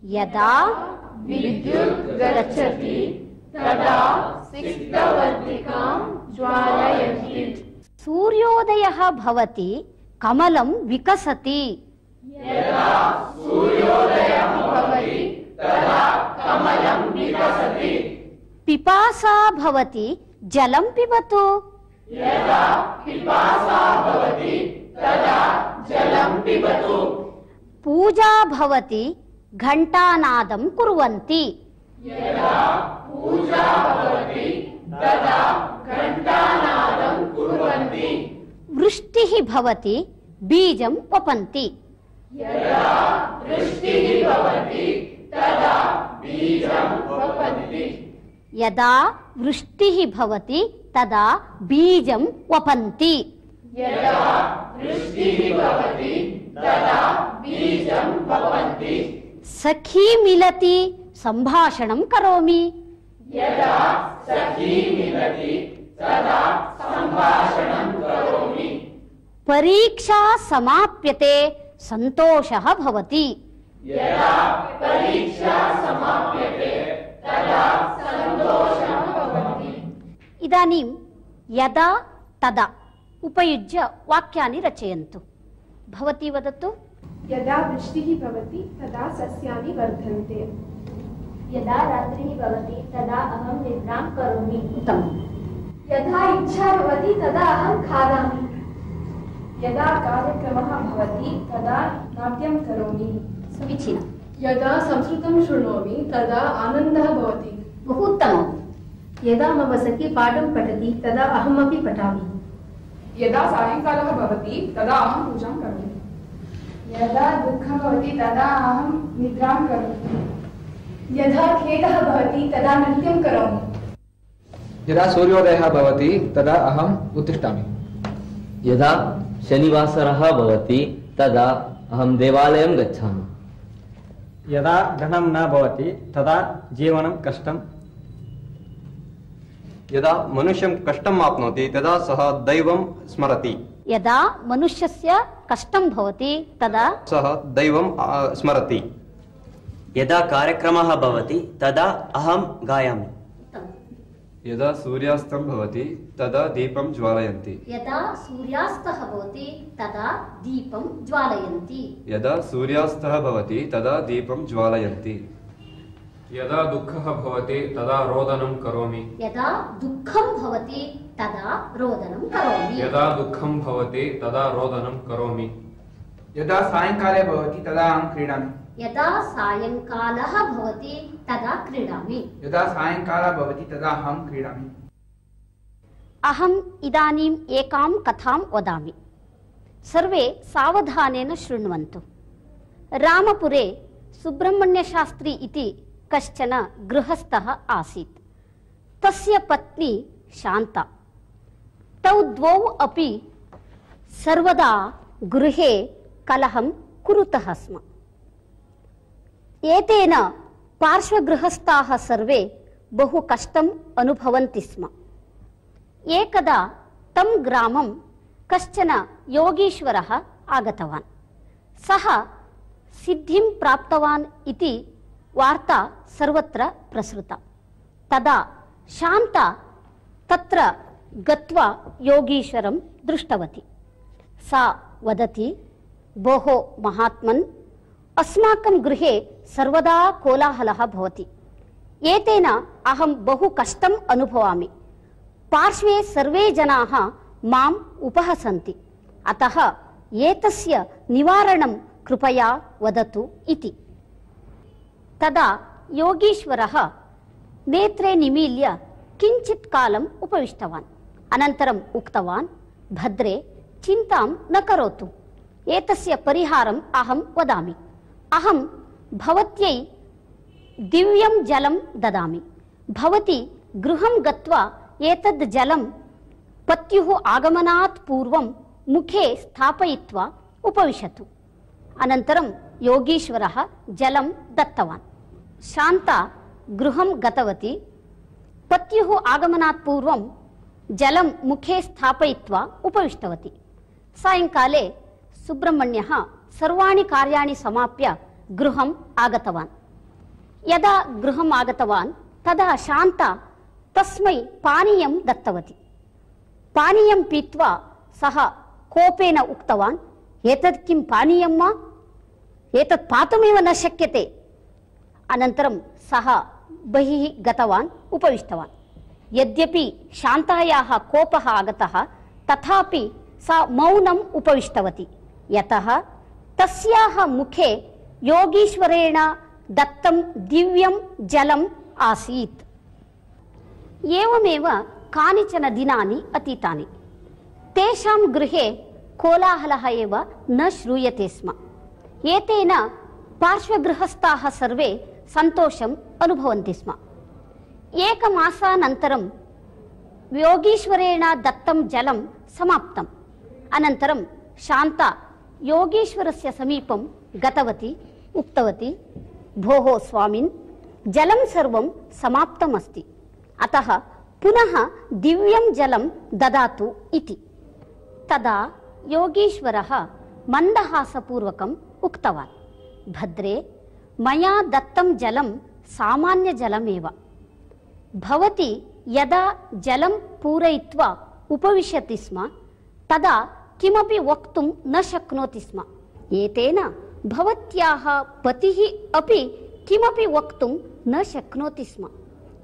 यदा विद्युत् गच्छति तदा सिक्थवर्तिकां ज्वालयन्ति। सूर्योदयः भवति, कमलं विकसति। यदा सूर्योदयः भवति तदा कमलं विकसति। पिपासा भवति, जलं पिबतु। यदा पिपासा भवति तदा जलं पिबतु। पूजा भवति, घण्टानादं कुर्वन्ति। यदा पूजा भवति तदा घण्टानादं कुर्वन्ति। वृष्टिः भवति, बीजं वपन्ति। यदा वृष्टिः भवति तदा बीजं वपन्ति। यदा वृष्टिः भवति तदा बीजं वपन्ति। यदा वृष्टिः भवति तदा बीजं वपन्ति। सखी मिलति, सम्भाषणं करोमि। यदा सखी मिलति तदा सम्भाषणं करोमि। परीक्षा समाप्यते, सन्तोषः भवति। यदा परीक्षा समाप्यते तदा सन्तोषः भवति। इदानीं यदा तदा उपयुज्य वाक्यानि रचयन्तु। भवती वदतु। यदा वृष्टिः भवति तदा सस्यानि वर्धन्ते। यदा रात्रिः भवति तदा अहं निद्रां करोमि। उत्तमम्। यदा इच्छा भवति तदा अहं खादामि। यदा कार्यक्रमः भवति तदा नाट्यं करोमि। समीचीनम्। यदा संस्कृतं शृणोमि तदा आनन्दः भवति। बहु उत्तमम्। यदा मम सखी पाठं पठति तदा अहमपि पठामि। यदा सायंकालः भवति तदा अहं पूजां करोमि। यदा दुःखं भवति तदा अहं निद्रां करोमि। यदा खेदः भवति तदा नृत्यं करोमि। यदा सूर्योदयः भवति तदा अहम् उत्तिष्ठामि। यदा शनिवासरः भवति तदा अहं देवालयं गच्छामि। यदा धनं न भवति तदा जीवनं कष्टम्। यदा मनुष्यं कष्टम् आप्नोति तदा सः दैवं स्मरति। यदा मनुष्यस्य कष्टं भवति तदा सः दैवं स्मरति। यदा कार्यक्रमः भवति तदा अहं गायामि। यदा सूर्यास्तं भवति तदा दीपं ज्वालयन्ति। यदा सूर्यास्तः भवति तदा दीपं ज्वालयन्ति। यदा सूर्यास्तः भवति तदा दीपं ज्वालयन्ति। यदा दुःखः भवति तदा रोदनं करोमि। यदा दुःखं भवति तदा रोदनं करोमि। यदा दुःखं भवति तदा रोदनं करोमि। यदा सायंकाले भवति तदा अहं क्रीडामि। यदा सायंकालः भवति तदा क्रीडामि। यदा सायंकालः भवति तदा अहं क्रीडामि। अहम् इदानीम् एकां कथां वदामि। सर्वे सावधानेन शृण्वन्तु। रामपुरे सुब्रह्मण्यशास्त्री इति कश्चन गृहस्थः आसीत्। तस्य पत्नी शान्ता। तौ द्वौ अपि सर्वदा गृहे कलहं कुरुतः स्म। एतेन पार्श्वगृहस्थाः सर्वे बहु कष्टम् अनुभवन्ति स्म। एकदा तं ग्रामं कश्चन योगीश्वरः आगतवान्। सः सिद्धिं प्राप्तवान् इति वार्ता सर्वत्र प्रसृता। तदा शान्ता तत्र गत्वा योगीश्वरं दृष्टवती। सा वदति, भोः महात्मन्, अस्माकं गृहे सर्वदा कोलाहलः भवति। एतेन अहं बहु कष्टम् अनुभवामि। पार्श्वे सर्वे जनाः माम् उपहसन्ति। अतः एतस्य निवारणं कृपया वदतु इति। तदा योगीश्वरः नेत्रे निमील्य किञ्चित् कालम् उपविष्टवान्। अनन्तरम् उक्तवान्, भद्रे, चिन्तां न करोतु। एतस्य परिहारम् अहं वदामि। अहं भवत्यै दिव्यं जलं ददामि। भवती गृहं गत्वा एतद् जलं पत्युः आगमनात् पूर्वं मुखे स्थापयित्वा उपविशतु। अनन्तरं योगीश्वरः जलं दत्तवान्। शान्ता गृहं गतवती। पत्युः आगमनात् पूर्वं जलं मुखे स्थापयित्वा उपविष्टवती। सायङ्काले सुब्रह्मण्यः सर्वाणि कार्याणि समाप्य गृहम् आगतवान्। यदा गृहम् आगतवान् तदा शान्ता तस्मै पानीयं दत्तवती। पानीयं पीत्वा सः कोपेन उक्तवान्, एतत् किं पानीयं वा? एतत् पातुमेव न शक्यते। अनन्तरं सः बहिः गतवान्, उपविष्टवान्। यद्यपि शान्तायाः कोपः आगतः, तथापि सा मौनम् उपविष्टवती। यतः तस्याः मुखे योगीश्वरेण दत्तं दिव्यं जलम् आसीत्। एवमेव कानिचन दिनानि अतीतानि। तेषां गृहे कोलाहलः एव न श्रूयते स्म। एतेन पार्श्वगृहस्थाः सर्वे सन्तोषम् अनुभवन्ति स्म। एकमासानन्तरं योगीश्वरेण दत्तं जलं समाप्तम्। अनन्तरं शान्ता योगीश्वरस्य समीपं गतवती, उक्तवती, भोः स्वामिन्, जलं सर्वं समाप्तमस्ति। अतः पुनः दिव्यं जलं ददातु इति। तदा योगीश्वरः मन्दहासपूर्वकम् उक्तवान्, भद्रे, मया दत्तं जलं सामान्यजलमेव। भवती यदा जलं पूरयित्वा उपविशति स्म तदा किमपि वक्तुं न शक्नोति स्म। एतेन भवत्याः पतिः अपि किमपि वक्तुं न शक्नोति स्म।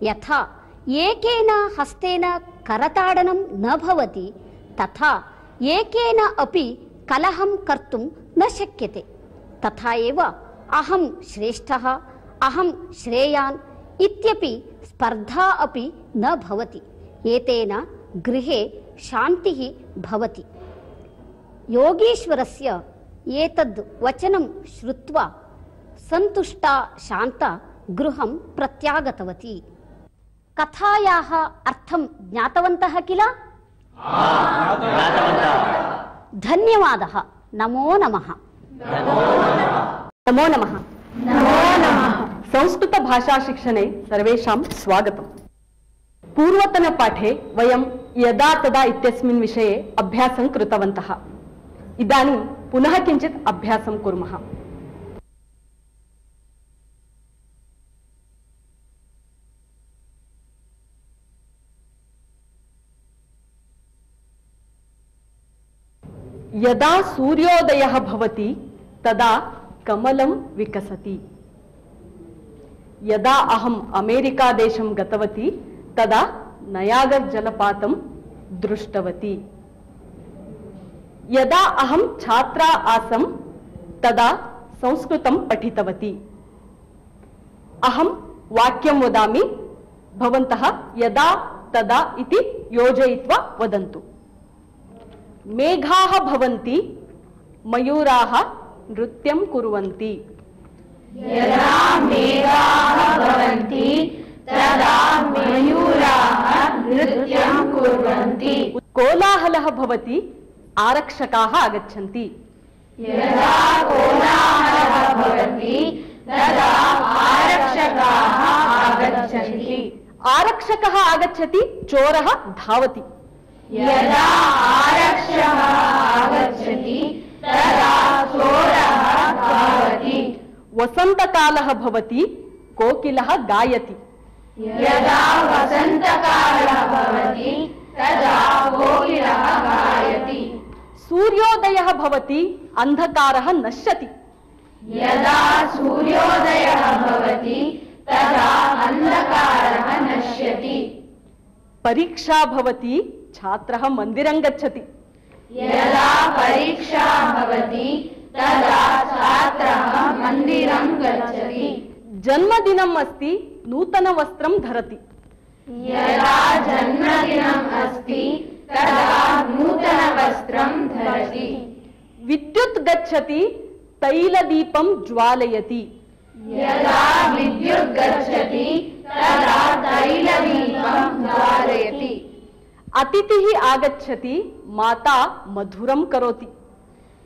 यथा एकेन हस्तेन करताडनं न भवति, तथा एकेन अपि कलहं कर्तुं न शक्यते। तथा एव अहं श्रेष्ठः, अहं श्रेयान् इत्यपि स्पर्धा अपि न भवति। एतेन गृहे शान्तिः भवति। योगीश्वरस्य एतद् वचनं श्रुत्वा सन्तुष्टा शान्ता गृहं प्रत्यागतवती। कथायाः अर्थं ज्ञातवन्तः किल? धन्यवादः। नमो नमः। नमो नमः। संस्कृतभाषाशिक्षणे सर्वेषां स्वागतम्। पूर्वतनपाठे वयं यदा तदा इत्यस्मिन् विषये अभ्यासं कृतवन्तः। इदानीं पुनः किञ्चित् अभ्यासं कुर्मः। यदा सूर्योदयः भवति तदा कमलं विकसति। यदा अहम् अमेरिकादेशं गतवती तदा नयागर् जलपातं दृष्टवती। यदा अहं छात्रा आसं तदा संस्कृतं पठितवती। अहं वाक्यं वदामि, भवन्तः यदा तदा इति योजयित्वा वदन्तु। मेघाः भवन्ति, मयूराः नृत्यं कुर्वन्ति। यदा मेघाः भवन्ति तदा मयूराः नृत्यं कुर्वन्ति। कोलाहलः भवति, आरक्षकाः आगच्छन्ति। यदा कोलाहलः भवति तदा आरक्षकाः आगच्छन्ति। आरक्षकः आगच्छति, चोरः धावति। यदा आरक्षकः आगच्छति तदा चोरः धावति। वसन्तकालः भवति, कोकिलः गायति। यदा वसन्तकालः भवति तदा कोकिलः गायति। सूर्योदयः भवति, अन्धकारः नश्यति। यदा सूर्योदयः भवति तदा अन्धकारः नश्यति। परीक्षा भवति, छात्रः मन्दिरं गच्छति। यदा परीक्षा भवति तदा छात्रः मन्दिरं गच्छति। जन्मदिनम् अस्ति, नूतनवस्त्रं धरति। यदा जन्मदिनम् अस्ति तदा नूतनवस्त्रं धरति। विद्युत् गच्छति, तैलदीपं ज्वालयति। यदा विद्युत् गच्छति तदा तैलदीपं ज्वालयति। अतिथिः आगच्छति, माता मधुरं करोति।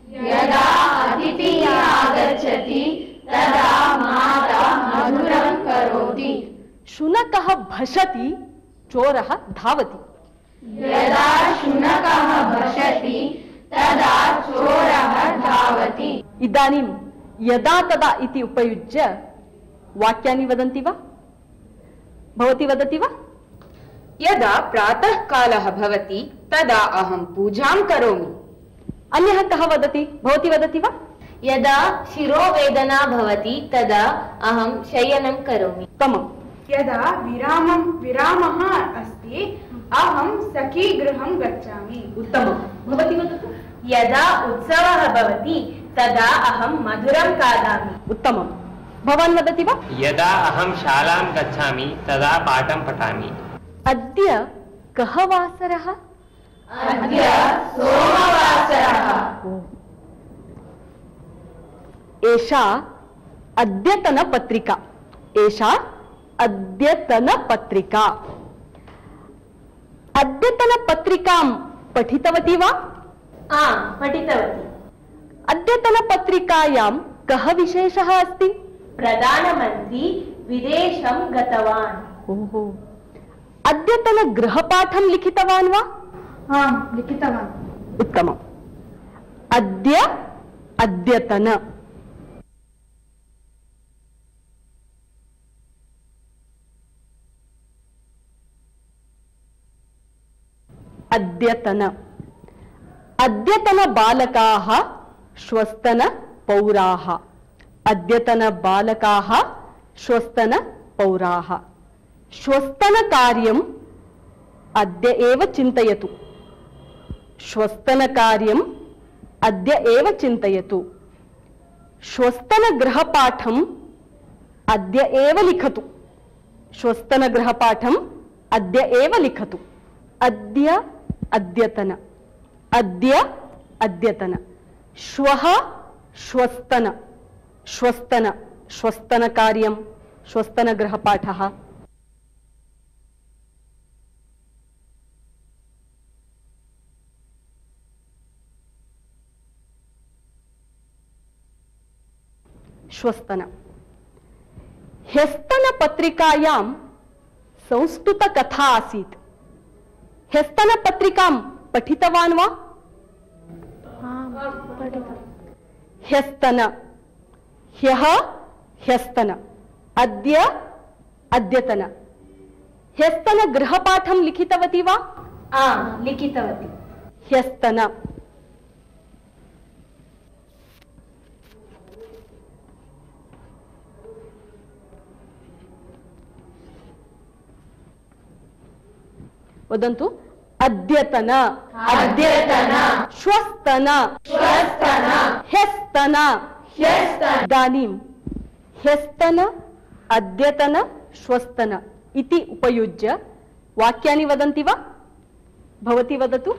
यदा अतिथिः आगच्छति तदा माता मधुरं करोति। शुनकः भषति, चोरः धावति। यदा शुनकः भषति तदा चोरः धावति। इदानीं यदा तदा इति उपयुज्य वाक्यानि वदन्ति वा? भवती वदति वा? यदा प्रातःकालः भवति तदा अहं पूजां करोमि। अन्यः कः वदति? भवती वदति वा? यदा शिरोवेदना भवति तदा अहं शयनं करोमि। उत्तमम्। यदा विरामं विरामः अस्ति अहं सखीगृहं गच्छामि। उत्तमं। भवती वदतु। यदा उत्सवः भवति तदा अहं मधुरं खादामि। उत्तमं। भवान् वदति वा? यदा अहं शालां गच्छामि तदा पाठं पठामि। अद्य कः वासरः? अद्य सोमवासरः। एषा अद्यतनपत्रिका। एषा अद्यतनपत्रिका। अद्यतनपत्रिकां पठितवती वा? आं पठितवती। अद्यतनपत्रिकायां कः विशेषः अस्ति? प्रधानमन्त्री विदेशं गतवान्। ओहो। अद्यतनगृहपाठं लिखितवान् वा? आं लिखितवान्। उत्तमम्। अद्य अद्यतन। अद्यतन। अद्यतन बालकाः श्वस्तन पौराः। अद्यतन बालकाः श्वस्तन पौराः। श्वस्तन कार्यम् अद्य एव चिन्तयतु। श्वस्तन कार्यम् अद्य एव चिन्तयतु। श्वस्तन गृहपाठम् अद्य एव लिखतु। श्वस्तन गृहपाठम् अद्य एव लिखतु। अद्य अद्यतन। अद्य अद्यतन। श्वः श्वस्तन। श्वस्तन श्वस्तन कार्यं श्वस्तन गृहपाठः। श्वस्तन। ह्यस्तन पत्रिकायां संस्कृतकथा आसीत्। ह्यस्तन पत्रिकां पठितवान् वा? ह्यस्तन। ह्यः ह्यस्तन। अद्य अद्यतन। ह्यस्तन गृहपाठं लिखितवती वा? आं लिखितवती। ह्यस्तन। वदन्तु। अद्यतन। अद्यतन। श्वस्तन। श्वस्तन। ह्यस्तन। ह्यस्तन। इदानीं ह्यस्तन अद्यतन श्वस्तन इति उपयुज्य वाक्यानि वदन्ति वा? भवती वदतु।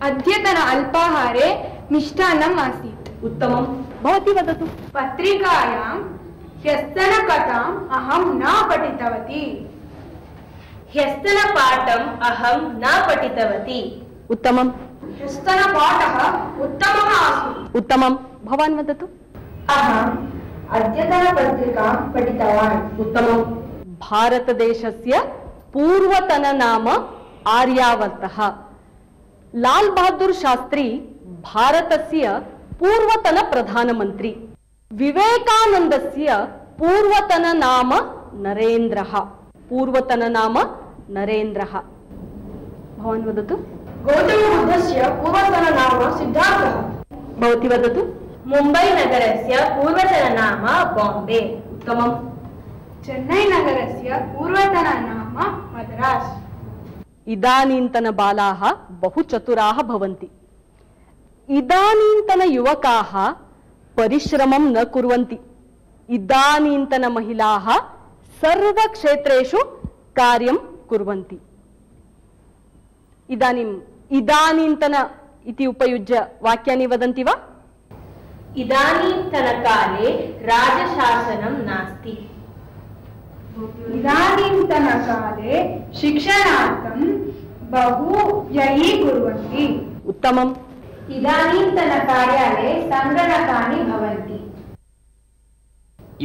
अद्यतन अल्पाहारे मिष्टान्नम् आसीत्। उत्तमं। भवती वदतु। पत्रिकायां ह्यस्तनकथाम् अहं न पठितवती। ह्यस्तनपाठम् अहं न पठितवती। उत्तमम्। ह्यस्तनपाठः उत्तमः आसीत्। उत्तमम्। भवान् वदतु। अहम् अद्यतनपत्रिकां पठितवान्। उत्तमम्। भारतदेशस्य पूर्वतननाम आर्यावर्तः। लाल बहादुर शास्त्री भारतस्य पूर्वतन प्रधानमन्त्री। विवेकानन्दस्य पूर्वतननाम नरेन्द्रः। पूर्वतननाम नरेन्द्रः। भवान् वदतु। गौतमबुद्धस्य पूर्वतननाम सिद्धार्थः। भवती वदतु। मुम्बै नगरस्य पूर्वतननाम बाम्बे। उत्तमम्। चेन्नै नगरस्य पूर्वतननाम मद्रास्। इदानीन्तन बालाः बहु चतुराः भवन्ति। इदानीन्तन युवकाः परिश्रमं न कुर्वन्ति। इदानीन्तन महिलाः सर्वक्षेत्रेषु कार्यं कुर्वन्ति। इदानीम् इदानीन्तन इति उपयुज्य वाक्यानि वदन्ति वा? इदानीन्तनकाले राजशासनं नास्ति। इदानीन्तनकाले शिक्षणार्थं बहु व्ययीकुर्वन्ति। उत्तमम्। इदानीन्तनकार्यालये सङ्गणकानि भवन्ति।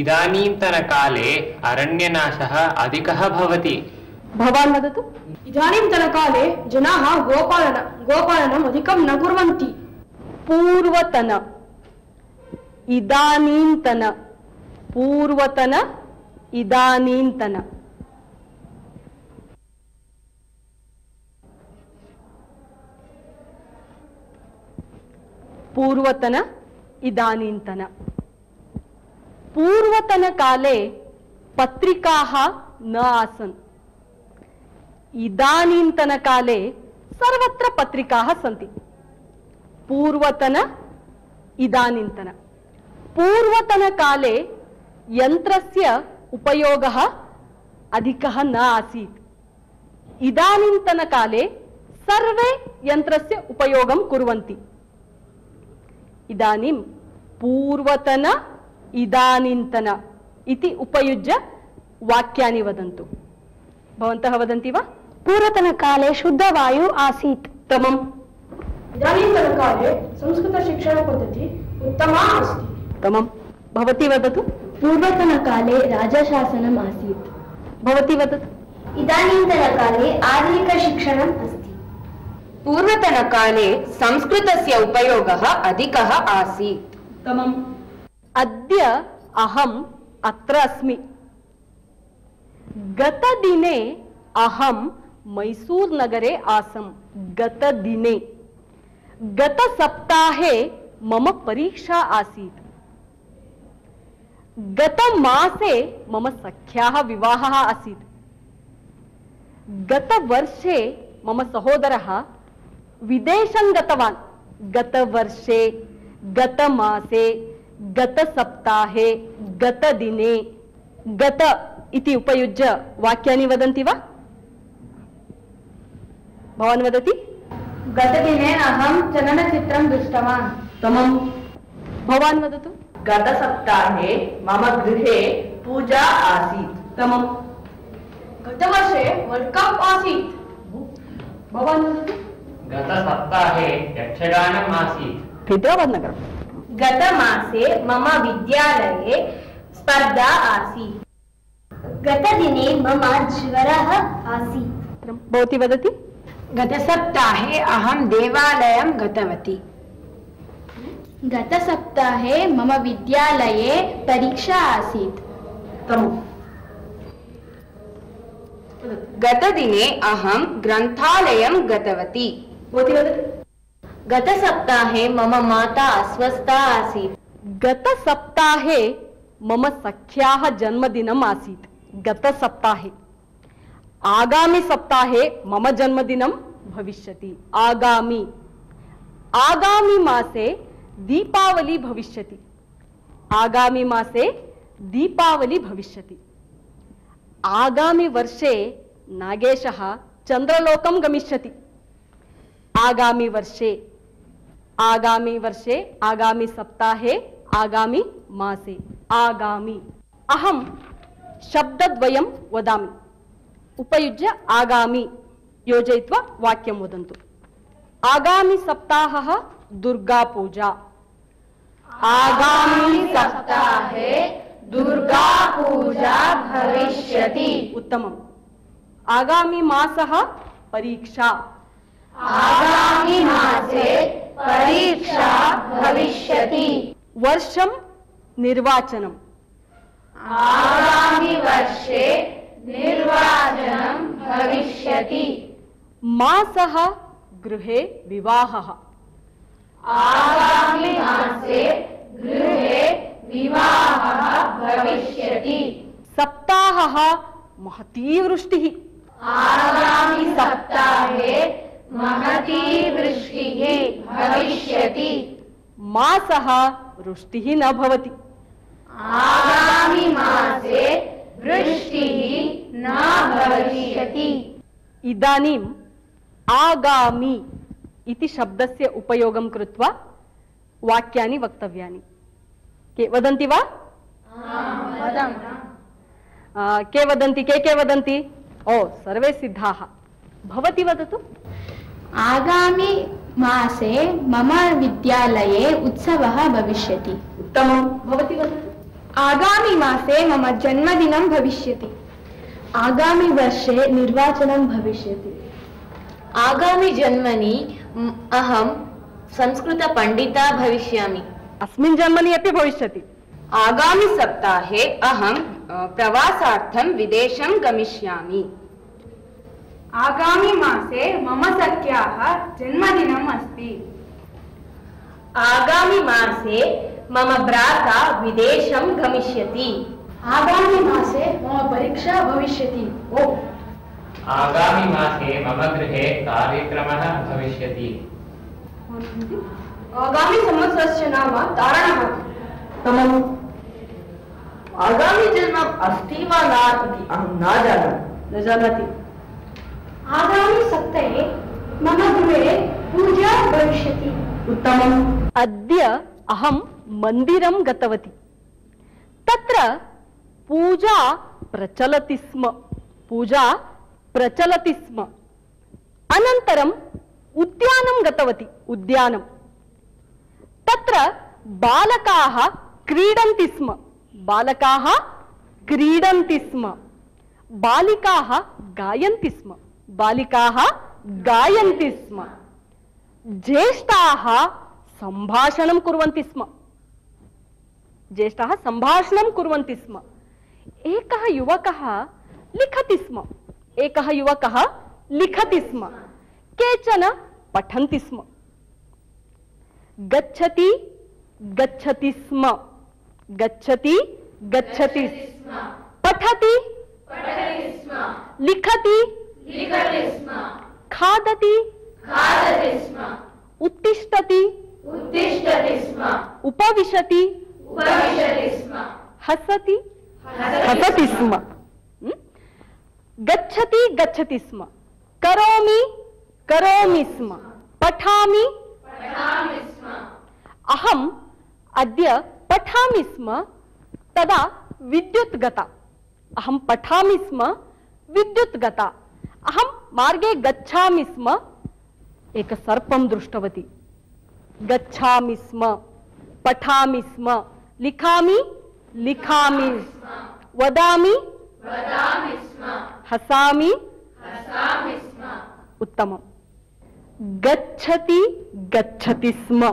इदानीन्तनकाले अरण्यनाशः अधिकः भवति। भवान् वदतु। इदानीन्तनकाले जनाः गोपालन गोपालनम् अधिकं न कुर्वन्ति। पूर्वतन इदानीन्तन पूर्वतन इदानीन्तन। पूर्वतन इदानीन्तन। पूर्वतनकाले पत्रिकाः न आसन्। इदानीन्तनकाले सर्वत्र पत्रिकाः सन्ति। पूर्वतन इदानीन्तन। पूर्वतनकाले यन्त्रस्य उपयोगः अधिकः न आसीत्। इदानीन्तनकाले सर्वे यन्त्रस्य उपयोगं कुर्वन्ति। इदानीं पूर्वतन इदानीन्तन इति उपयुज्य वाक्यानि वदन्तु। भवन्तः वदन्ति वा? पूर्वतनकाले शुद्धवायु आसीत्। उत्तमम्। इदानीन्तनकाले संस्कृतशिक्षणपद्धतिः उत्तमा अस्ति। उत्तमम्। भवती वदतु। पूर्वतनकाले राजशासनम् आसीत्। भवती वदतु। इदानीन्तनकाले आधुनिकशिक्षणम् अस्ति। पूर्वतनकाले संस्कृतस्य उपयोगः अधिकः आसीत्। उत्तमम्। अद्य अहम् अत्र अस्मि। गतदिने अहं मैसूर नगरे आसम्। गतदिने। गतसप्ताहे मम परीक्षा आसीत्। गतमासे मम सख्याः विवाहः आसीत्। गतवर्षे मम सहोदरः विदेशं गतवान्। गतवर्षे, गतमासे, गतसप्ताहे, गतदिने, गत इति उपयुज्य वाक्यानि वदन्ति वा? भवान् वदति। गतदिने अहं चलनचित्रं दृष्टवान्। उत्तमम्। भवान् वदतु। गतसप्ताहे मम गृहे पूजा आसीत्। उत्तमम्। गतवर्षे वर्ल्ड कप आसीत्। भवान् वदतु। गतसप्ताहे यक्षगानम् आसीत्। हैदराबादनगरं। गतमासे मम विद्यालये स्पर्धा आसीत्। गतदिने मम ज्वरः आसीत्। भवती वदति। गतसप्ताहे अहं देवालयं गतवती। गतसप्ताहे मम विद्यालये परीक्षा आसीत्। गतदिने अहं ग्रन्थालयं गतवती। गतसप्ताहे मम माता अस्वस्था आसीत्। गतसप्ताहे मम सख्याः जन्मदिनम् आसीत्। गतसप्ताहे। आगामि सप्ताहे मम जन्मदिनं भविष्यति। आगामि। आगामि मासे दीपावली भविष्यति। आगामि मासे दीपावली भविष्यति। आगामि वर्षे नागेशः चन्द्रलोकं गमिष्यति। आगामि वर्षे। आगामि वर्षे, आगामि सप्ताहे, आगामि मासे। आगामि। अहं शब्दद्वयं वदामि, उपयुज्य आगामि योजयित्वा वाक्यं वदन्तु। आगामि सप्ताहः दुर्गा पूजा। आगामि सप्ताहे दुर्गा पूजा भविष्यति। उत्तमम्। आगामि मासः परीक्षा। आगामि मासे परीक्षा भविष्यति। वर्षं निर्वाचनम्। आगामि वर्षे निर्वाचनं भविष्यति। मासः गृहे विवाहः। आगामि मासे गृहे विवाहः भविष्यति। सप्ताहः महती वृष्टिः। आगामि सप्ताहे महती वृष्टिः भविष्यति। मासः वृष्टिः न भवति। आगामि मासे वृष्टिः न भविष्यति। इदानीम् आगामि इति शब्दस्य उपयोगं कृत्वा वाक्यानि वक्तव्यानि। के वदन्ति वा? के वदन्ति? के के वदन्ति? ओ, सर्वे सिद्धाः। भवती वदतु। आगामि मासे मम विद्यालये उत्सवः भविष्यति। उत्तमं। भवती वदतु। आगामि मासे मम जन्मदिनं भविष्यति। आगामि वर्षे निर्वाचनं भविष्यति। आगामि जन्मनि अहं संस्कृतपण्डिता भविष्यामि। अस्मिन् जन्मनि अपि भविष्यति। आगामि सप्ताहे अहं प्रवासार्थं विदेशं गमिष्यामि। आगामि मासे मम सख्याः जन्मदिनम् अस्ति। आगामि मासे मम भ्राता विदेशं गमिष्यति। आगामि मासे मम परीक्षा भविष्यति। ओ आगामि मासे मम गृहे कार्यक्रमः भविष्यति। आगामि संवत्सरस्य नाम तारणः। तमम्। आगामि जन्म अस्ति वा न इति अहं न जानामि। न जानाति। आगामि सप्ताहे मम गृहे पूजा भविष्यति। उत्तमम्। अद्य अहं मन्दिरं गतवती। तत्र पूजा प्रचलति स्म। पूजा प्रचलति स्म। अनन्तरम् उद्यानं गतवती। उद्यानं। तत्र बालकाः क्रीडन्ति स्म। बालकाः क्रीडन्ति स्म। बालिकाः गायन्ति स्म। बालिकाः गायन्ति स्म। ज्येष्ठाः सम्भाषणं कुर्वन्ति स्म। ज्येष्ठाः सम्भाषणं कुर्वन्ति स्म। एकः युवकः लिखति स्म। एकः युवकः लिखति स्म। केचन पठन्ति स्म। गच्छति गच्छति स्म। गच्छति गच्छति स्म। पठति पठति स्म। लिखति लिखति स्म। खादति खादति स्म। उत्तिष्ठति उत्तिष्ठति स्म। उपविशति उपविशति स्म। हसति हसति स्म। गच्छति गच्छति स्म। करोमि करोमि स्म। पठामि पठामि स्म। अहम् अद्य पठामि स्म। तदा विद्युत् गता। अहं पठामि स्म। विद्युत् गता। अहं मार्गे गच्छामि स्म। एक सर्पं दृष्टवती। गच्छामि स्म। पठामि स्म। लिखामि लिखामि वदामि वदामि स्म। हसामि हसामि स्म। उत्तमम्। गच्छति गच्छति स्म।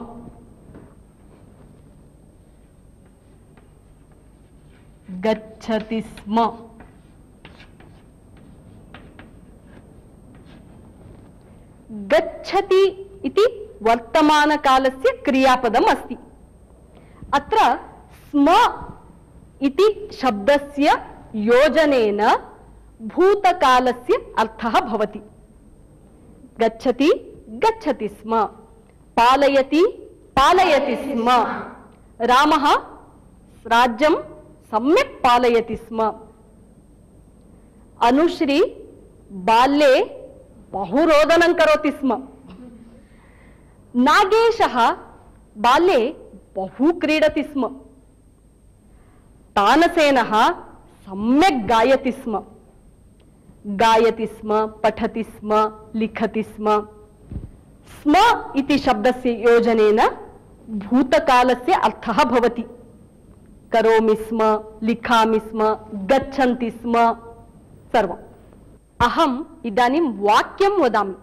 गच्छति स्म। गच्छति इति वर्तमानकालस्य क्रियापदम् अस्ति। अत्र स्म इति शब्दस्य योजनेन भूतकालस्य अर्थः भवति। गच्छति गच्छति स्म। पालयति पालयति स्म। रामः राज्यं सम्यक् पालयति स्म। अनुश्री बाल्ये बहु रोदनं करोति स्म। नागेशः बाल्ये बहु क्रीडति स्म। तानसेनः सम्यक् गायति स्म गायति स्म पठति स्म लिखति स्म स्म इति शब्दस्य योजनेन भूतकालस्य अर्थः भवति। करोमि स्म, लिखामि स्म, गच्छन्ति स्म, सर्वम्। अहम् इदानीं वाक्यं वदामि,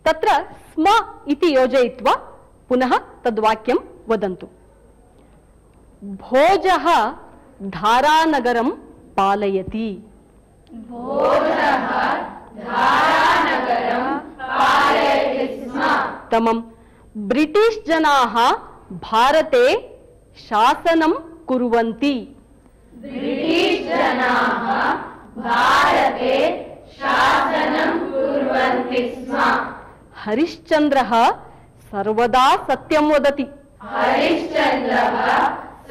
तत्र स्म इति योजयित्वा पुनः तद्वाक्यं वदन्तु। भोजः धारानगरं पालयति। भोजः धारानगरं पालयति स्म। उत्तमम्। ब्रिटिश् जनाः भारते शासनं कुर्वन्ति। ब्रिटिश् जनाः भारते शासनं कुर्वन्ति स्म। हरिश्चन्द्रः सर्वदा सत्यं वदति। हरिश्चन्द्रः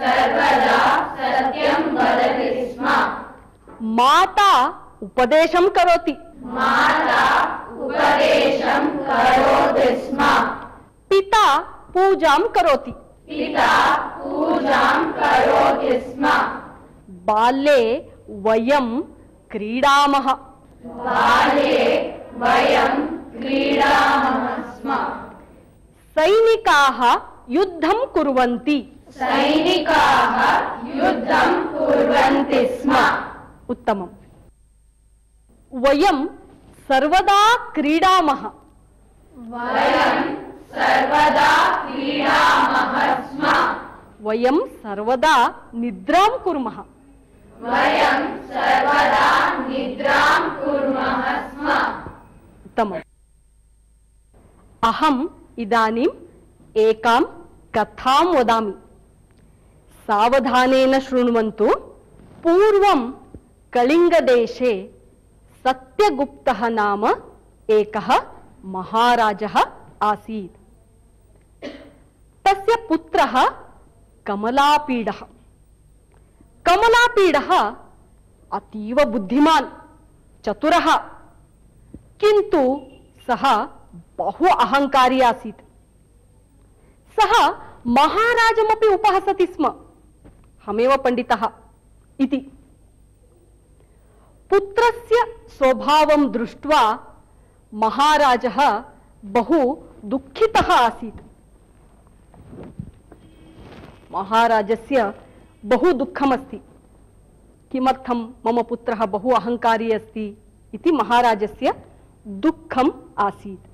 सर्वदा सत्यं वदति स्म। माता उपदेशं करोति। माता उपदेशं करोति स्म। पिता पूजां करोति। पिता पूजां करोति स्म। बाल्ये वयं क्रीडामः। बाल्ये वयं क्रीडामः स्म। सैनिकाः युद्धं कुर्वन्ति। सैनिकाः युद्धं कुर्वन्ति स्म। उत्तमम्। वयं सर्वदा क्रीडामः। वयं सर्वदा क्रीडामः स्म। वयं सर्वदा निद्रां कुर्मः। वयं सर्वदा निद्रां कुर्मः स्म। उत्तमम्। अहम् इदानीम् एकां कथां वदामि, सावधानेन शृण्वन्तु। पूर्वं कलिङ्गदेशे सत्यगुप्तः नाम एकः महाराजः आसीत्। तस्य पुत्रः कमलापीडः। कमलापीडः अतीव बुद्धिमान् चतुरः, किन्तु सः बहु अहङ्कारी आसीत्। सः महाराजमपि उपहसति स्म, हमेव पण्डितः इति। पुत्रस्य स्वभावं दृष्ट्वा महाराजः बहु दुःखितः आसीत्। महाराजस्य बहु दुःखमस्ति। किमर्थं मम पुत्रः बहु अहङ्कारी अस्ति इति महाराजस्य दुःखम् आसीत्।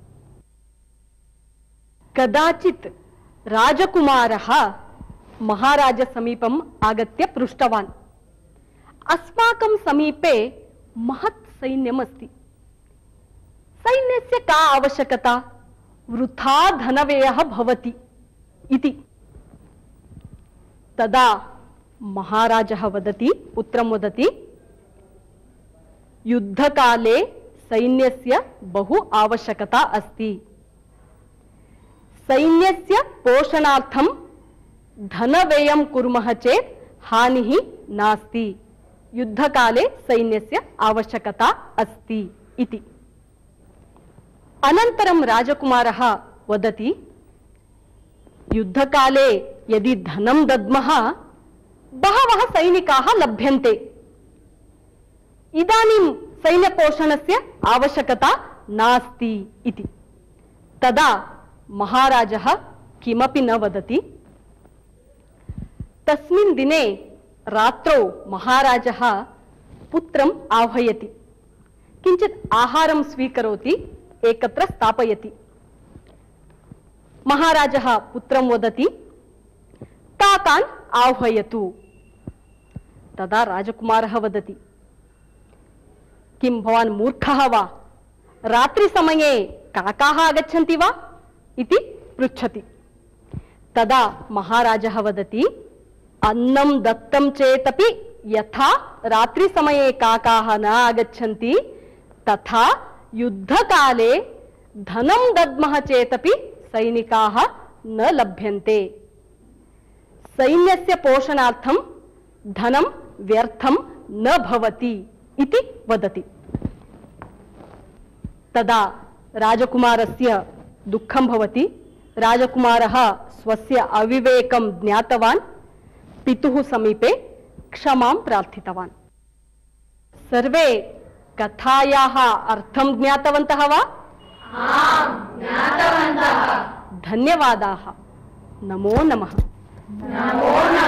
कदाचित् राजकुमारः महाराजसमीपम् आगत्य पृष्टवान्, अस्माकं समीपे महत् सैन्यमस्ति, सैन्यस्य का आवश्यकता, वृथा धनव्ययः भवति इति। तदा महाराजः वदति, पुत्रं वदति, युद्धकाले सैन्यस्य बहु आवश्यकता अस्ति। सैन्यस्य पोषणार्थं धनव्ययं कुर्मः चेत् हानिः नास्ति। युद्धकाले सैन्यस्य आवश्यकता अस्ति इति। अनन्तरं राजकुमारः वदति, युद्धकाले यदि धनं दद्मः बहवः सैनिकाः लभ्यन्ते, इदानीं सैन्यपोषणस्य आवश्यकता नास्ति इति। तदा महाराजः किमपि न वदति। तस्मिन् दिने रात्रौ महाराजः पुत्रम् आह्वयति, किञ्चित् आहारं स्वीकरोति, एकत्र स्थापयति। महाराजः पुत्रं वदति, काकान् आह्वयतु। तदा राजकुमारः वदति, किं भवान् मूर्खः वा, रात्रिसमये काकाः आगच्छन्ति वा इति पृच्छति। तदा महाराजः वदति, अन्नं दत्तं चेतपि यथा रात्रिसमये काकाः न आगच्छन्ति, तथा युद्धकाले धनं दद्मः चेतपि सैनिकाः न लभ्यन्ते। सैन्यस्य पोषणार्थं धनं व्यर्थं न भवति इति वदति। तदा राजकुमारस्य दुःखं भवति। राजकुमारः स्वस्य अविवेकं ज्ञातवान्, पितुः समीपे क्षमां प्रार्थितवान्। सर्वे कथायाः अर्थं ज्ञातवन्तः वा? आम्, ज्ञातवन्तः। धन्यवादाः। नमो नमः। नमो नमः।